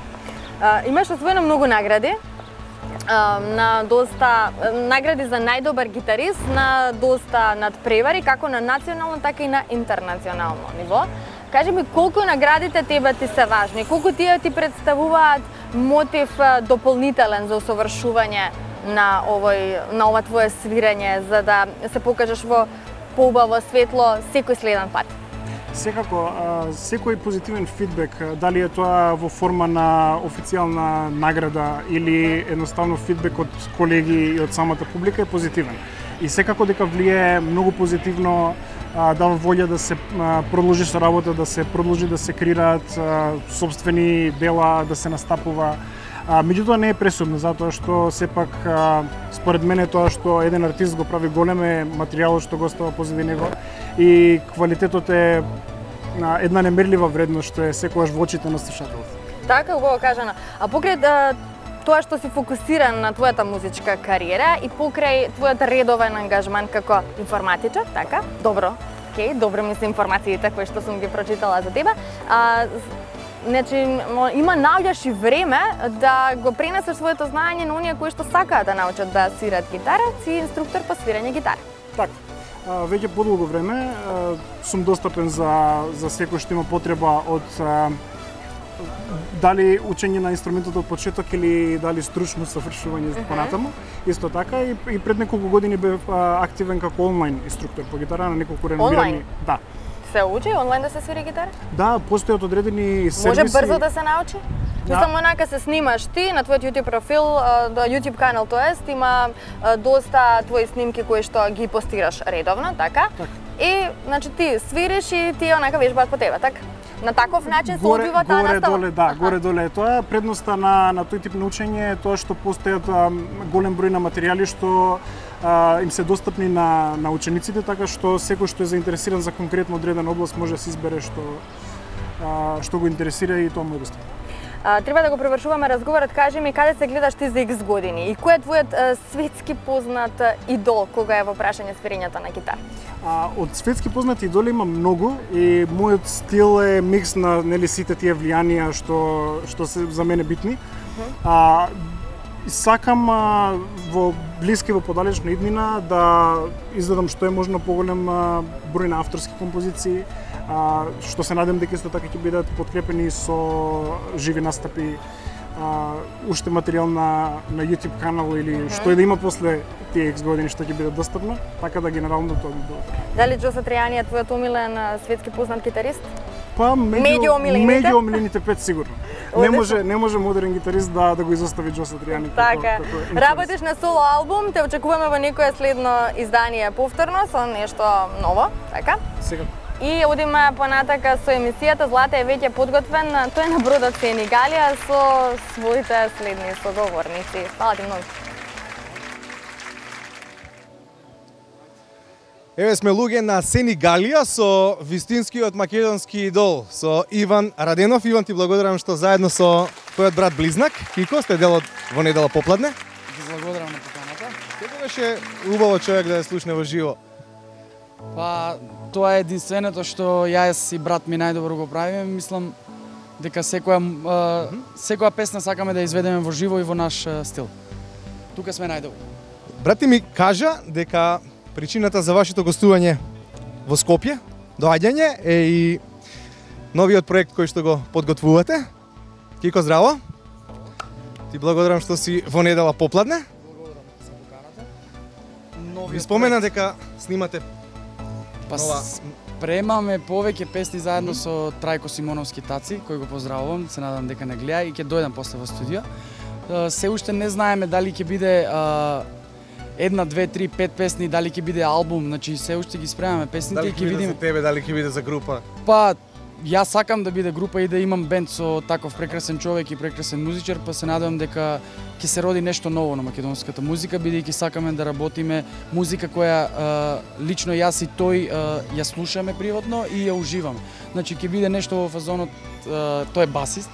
А, имаш освоено многу награди, а, на доста награди за најдобар гитарист, на доста надпревари, како на национално, така и на интернационално ниво. Кажи ми, колку наградите тебе ти се важни? Колку тие ти представуваат мотив дополнителен за усовршување на овој на ова твое свирење, за да се покажеш во поубаво светло секој следен пат? Секако, секој позитивен фидбек, дали е тоа во форма на официјална награда или едноставно фидбек од колеги и од самата публика е позитивен. И секако дека влијае многу позитивно, дава волја да се продолжи со работа, да се продолжи да се креираат сопствени дела, да се настапува. Меѓутоа не е пресудно, затоа што сепак според мене тоа што еден артист го прави голем е материјалот што го остава позади него и квалитетот е една немерлива вредност што е секогаш во очите на слушателот. Така, убаво кажано. А покрај да, тоа што си фокусиран на твојата музичка кариера и покрај твојот редовен ангажман како информатичар, така? Добро. Океј, добро ми се информациите кои што сум ги прочитала за тебе. А, Значи, има наоѓаш и време да го пренесеш своето знаење на оние кои што сакаат да научат да свират гитара, си инструктор по свирење гитара. Така. Веќе подолго време сум достапен за за секој што има потреба од дали учење на инструментот од почеток или дали стручно совршување uh -huh. понатаму. Исто така и, и пред неколку години бев активен како онлайн инструктор по гитара на неколку реномирани. Да. Се учи онлайн да се свири гитара? Да, постојат одредени сервиси. Може брзо да се научи? Да. Само онака се снимаш ти на твојот YouTube профил, YouTube канал, тоест има доста твои снимки кои што ги постираш редовно, така? Так. И значи ти свириш и ти онака вежбаат по тебе, така? На таков начин се одвива таа настава? Горе доле, да, горе доле е тоа. Предноста на на тој тип на учење е тоа што постојат голем број на материјали што а, им се достапни на на учениците, така што секој што е заинтересиран за конкретно одредена област може да се избере што а, што го интересира и тоа му е достапно. А, треба да го превршуваме разговорот. Кажи ми, каде се гледаш ти за икс години и кој е твојот а, светски познат идол кога е во прашање свирењето на гитара? А, од светски познати идоли има многу и мојот стил е микс на нели сите тие влијанија што што се за мене битни. Uh-huh. А, сакам а, во блиска и во подалечна иднина да издадам што е можно поголем а, број на авторски композиции, а, што се надам дека исто така ќе бидат подкрепени со живи настапи, а, уште материјал на на YouTube канал или uh-huh. што е да има после тие икс години што ќе биде достапно, така да генерално тоа би било. Дали Джо Сатријани е твојот омилен светски познат гитарист? Па меѓу омилените, меѓу омилените пет сигурно. Не може не може модерен гитарист да да го изостави Джо Сатријани. Така. Работиш на соло албум, те очекуваме во некое следно издание повторно со нешто ново, така? Сега. И одиме понатака со емисијата. Злата е веќе подготвен, тој е на бродот Сенигалија со своите следни соговорници. Фала ти многу. Еве сме луѓе на Сенигалија со вистинскиот македонски идол, со Иван Раденов. Иван, ти благодарам што заедно со твојот брат близнак Кико сте дел од Во недела попладне. Ти благодарам на поканата. Како беше убаво човек да ја слушне во живо? Па, тоа е единственото што јас и брат ми најдобро го правиме. Мислам дека секоја uh, секоја песна сакаме да изведеме во живо и во наш uh, стил. Тука сме најдобро. Брат ти ми кажа дека причината за вашето гостување во Скопје, доаѓање, е и новиот проект кој што го подготвувате. Кико, здраво. Ти благодарам што си Во недела попладне. Благодарам за поканата. Ви спомена дека снимате Па нова... спремаме повеќе песни заедно со Трајко Симоновски Таци, кој го поздравувам, се надам дека не гледа и ќе дојдам после во студио. Се уште не знаеме дали ќе биде а, една, две, три, пет песни, дали ќе биде албум, значи се уште ги спремаме песните Дали и ќе ќе биде видиме. за тебе, дали ќе биде за група? Па, јас сакам да биде група и да имам бенд со таков прекрасен човек и прекрасен музичар, па се надевам дека ќе се роди нешто ново на македонската музика, бидејќи сакаме да работиме музика која а, лично јас и тој а, ја слушаме приватно и ја уживаме. Значи ќе биде нешто во фазонот, а, тој е басист,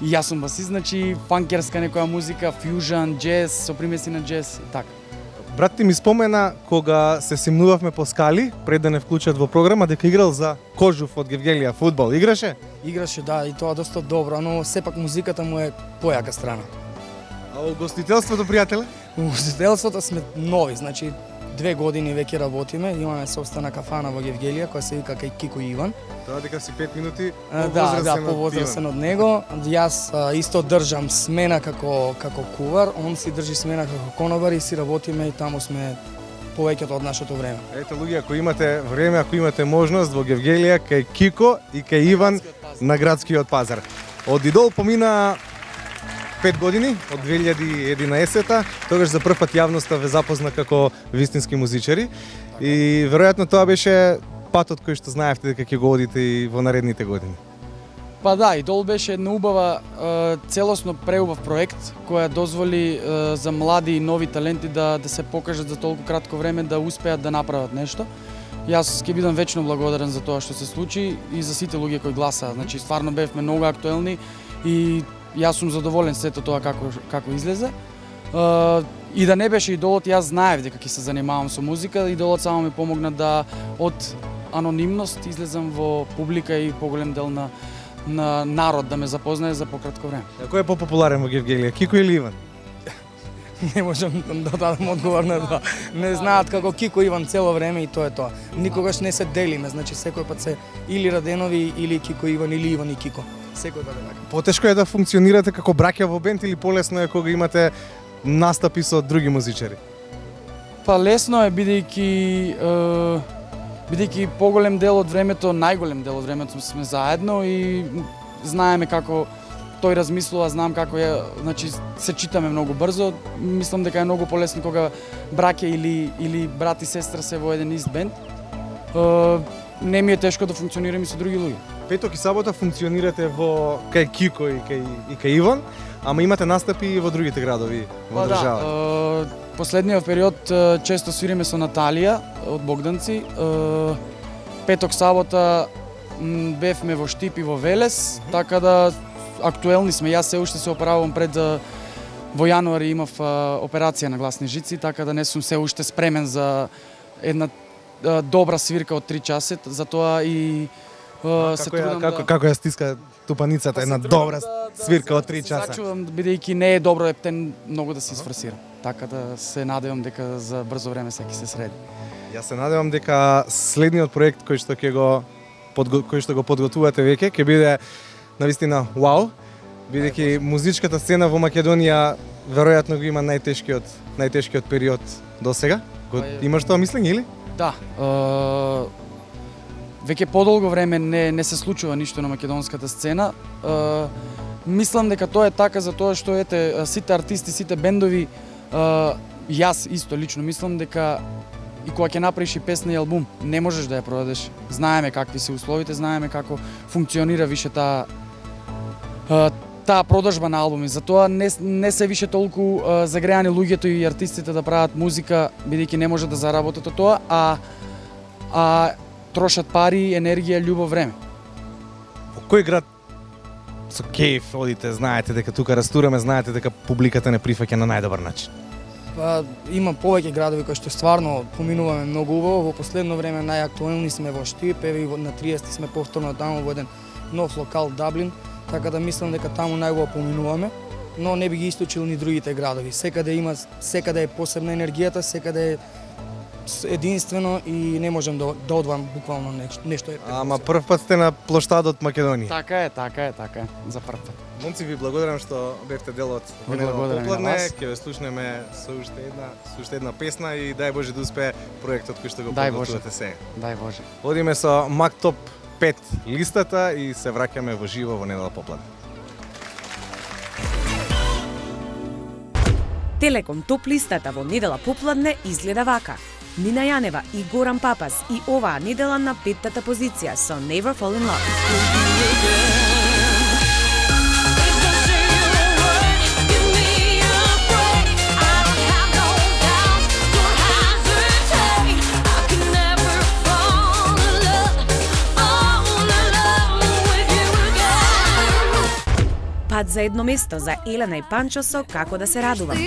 и јас сум басист, значи фанкерска некоја музика, фјужан, џез, со примеси на џез и така. Брат ти ми спомена кога се симнувавме по скали, пред да не вклучат во програма, дека играл за Кожув од Гевгелија фудбал. Играше? Играше, да, и тоа доста добро, но сепак музиката му е појака страна. А во гостителството, пријателе? Во гостителството сме нови, значи две години веќе работиме, имаме собствена кафана во Гевгелија која се вика кај Кико Иван. Тоа дека си пет минути А, да, да, повозрасен од него. Јас а, исто држам смена како како кувар, он си држи смена како конобар и си работиме и таму сме повеќето од нашето време. Ете луѓе, ако имате време, ако имате можност во Гевгелија кај Кико и кај Иван на градскиот пазар. Од Идол помина пет години, од две илјади и единаесета, тогаш за прв пат јавноста ве запозна како вистински музичари и веројатно тоа беше патот кој што знаевте дека ќе го одите и во наредните години. Па да, Идол беше една убава, е, целосно преубав проект која дозволи е, за млади и нови таленти да да се покажат за толку кратко време да успеат да направат нешто. Јас ќе бидам вечно благодарен за тоа што се случи и за сите луѓе кои гласаа. Значи стварно бевме многу актуелни и јас сум задоволен сето тоа како како излезе. Uh, и да не беше Идолот, јас знаев дека ќе се занимавам со музика, Идолот само ми помогна да од анонимност излезам во публика и поголем дел на на народ да ме запознае за пократко време. А кој е попопуларен во Гевгелија, Кико или Иван? Не можам да дадам одговор на тоа. Не знаат како Кико Иван цело време и тоа е тоа. Никогаш не се делиме, значи секој пат се или Раденови или Кико Иван или Иван и Кико. Секој пат е така. Потешко е да функционирате како браќа во бенд или полесно е кога имате настапи со други музичари? Па лесно е бидејќи е, бидејќи поголем дел од времето, најголем дел од времето сме заедно и знаеме како тој размислува, знам како е, значи се читаме многу брзо. Мислам дека е многу полесно кога браќа или или брат и сестра се во еден ист бенд. Е, не ми е тешко да функционирам и со други луѓе. Петок и сабота функционирате во кај Кико и кај и кај Иван, ама имате настапи и во другите градови во Па државата. Да, е, последниот период е, често свириме со Наталија од Богданци. Е, петок сабота м, бевме во Штип и во Велес, така да актуелни сме. Јас се уште се операвам пред е, во јануари имав е, операција на гласни жици, така да не сум се уште спремен за една е, добра свирка од три часа, затоа и Uh, се како, ја, трудам како, да... како ја стиска тупаницата, една добра да, свирка да, од три часа. Зачувам, бидејќи не е добро ептен многу да се изфорсира. Така да се надевам дека за брзо време се ќе се среди. Јас се надевам дека следниот проект кој што ќе го подго, кој што го подготвувате веќе ќе биде навистина вау, бидејќи музичката сцена во Македонија веројатно го има најтешкиот најтешкиот период досега. Го имаш тоа мислење или? Да. Uh... Веќе подолго време не, не се случува ништо на македонската сцена. Е, мислам дека тоа е така затоа што ете сите артисти, сите бендови, е, јас исто лично мислам дека и кога ќе направиш и песна и албум, не можеш да ја продадеш. Знаеме какви се условите, знаеме како функционира више таа е, таа продажба на албуми. Затоа не, не се више толку е, загреани луѓето и артистите да прават музика, бидејќи не може да заработат од тоа, а а трошат пари, енергија, љубов, време. Во кој град со кејф одите, знаете дека тука растураме, знаете дека публиката не прифаќа на најдобар начин? Па, има повеќе градови кои што стварно поминуваме многу убаво. Во последно време најактуелни сме во Штип, еве и на триесети сме повторно таму во еден нов локал Даблин, така да мислам дека таму најубаво поминуваме, но не би ги исклучил ни другите градови. Секаде има, секаде е посебна енергијата, секаде е единствено и не можам да, да одвам буквално нешто. нешто е Ама прв пат сте на плоштадот Македонија. Така е, така е, така е, за прв пат. Момци, ви благодарам што бевте дел од Ви благодарам и на вас. Ќе ве слушнеме со уште една, со уште една песна и дај Боже да успее проектот кој што го Дај подготвувате Боже. сега. Дај Боже. Одиме со Мак Топ пет листата и се враќаме во живо во недела попладне. Телеком топ листата во недела попладне изгледа вака. Нина Јанева и Горан Папас и оваа недела на петтата позиција со Never Fall in Love. Пат за едно место за Елена и Панчо со Како да се радувам.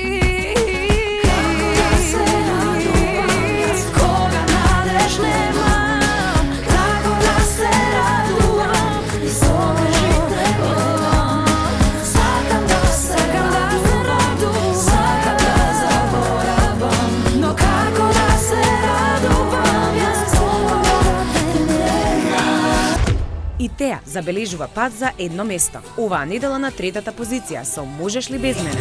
И Теа забележува пат за едно место. Оваа недела на третата позиција со Можеш ли без мене.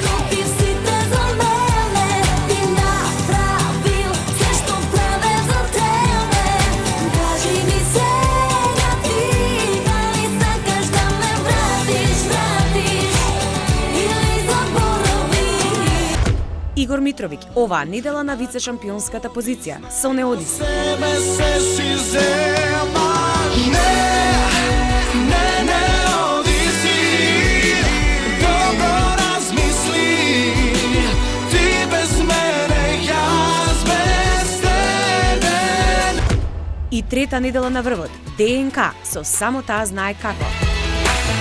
Игор Митровиќ оваа недела на вице-шампионската позиција со Не оди се. Не, не оди си, добро размисли, ти без мене, јас без тебе. И трета недела на врвот, ДНК со Само таа знае како.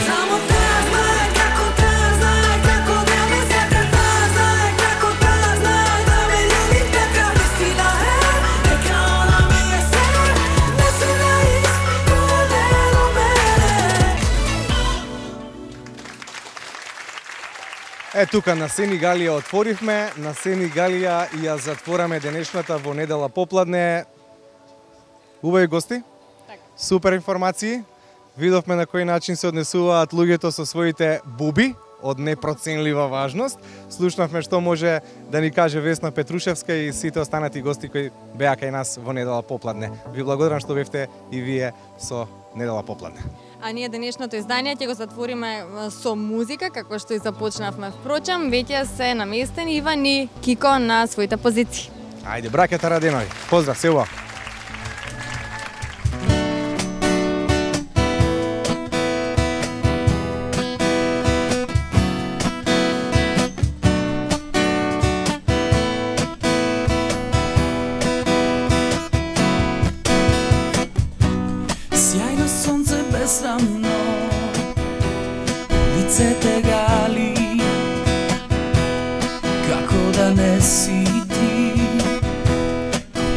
Само таа знае како, таа знае како да ме сета, таа знае како, таа знае да ме љуби така. Истина е, дека она ми е се, не се наис, колено мене. Е, тука на Сенигалија отворивме, на Сенигалија и ја затвораме денешната во недела попладне. Убави гости, супер информации. Видовме на кој начин се однесуваат луѓето со своите буби од непроценлива важност. Слушнавме што може да ни каже Весна Петрушевска и сите останати гости кои беа кај нас во недела попладне. Ви благодарам што бевте и вие со недела попладне. А ние денешното издание ќе го затвориме со музика, како што и започнавме. Впрочем, веќе се наместени Иван и Кико на своите позиции. Ајде, браќата Раденови, поздрав, се убаво. Сјајно сонце безсрамно, лицете гали, како да не си ти,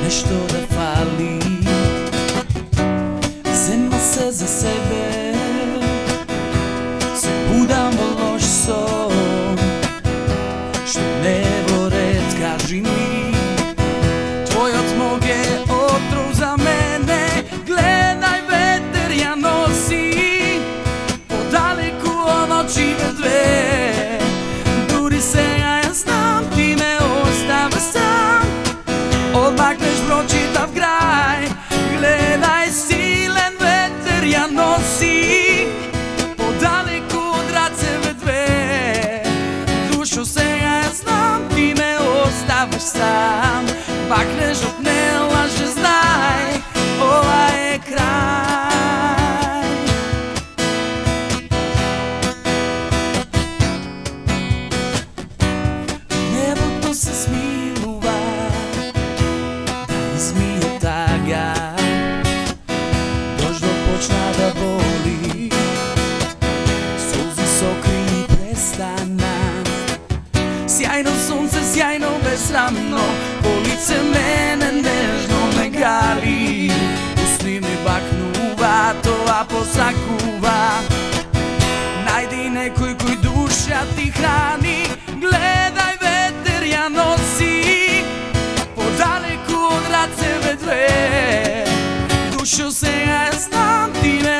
нешто да фали. Зема се за себе, се будам во лош сон, што не во ред, кажи ми, твојот мог е отров за мене, гледај ветер ја носи, подалеку од очите две, дури сега ја знам, ти ме остава сам, одмакнеш прочитав крај, гледај силен ветер ја носи, подалеку од рацеве две, душо сега ја знам, ти ме оставаш сам, бакнеш од не лаже, знај, ова е крај. Небото се смилува, да измие тага, дождот почна да боли, солзи сокри престана. Сјајно сонце, сјајно безсрамно, по лице мене нежно ме гали, усни ми бакнува, тоа посакува. Најди некој кој душа ти храни, гледај ветер ја носи, подалеку од рацеве две, душо сега ја знам, ти ме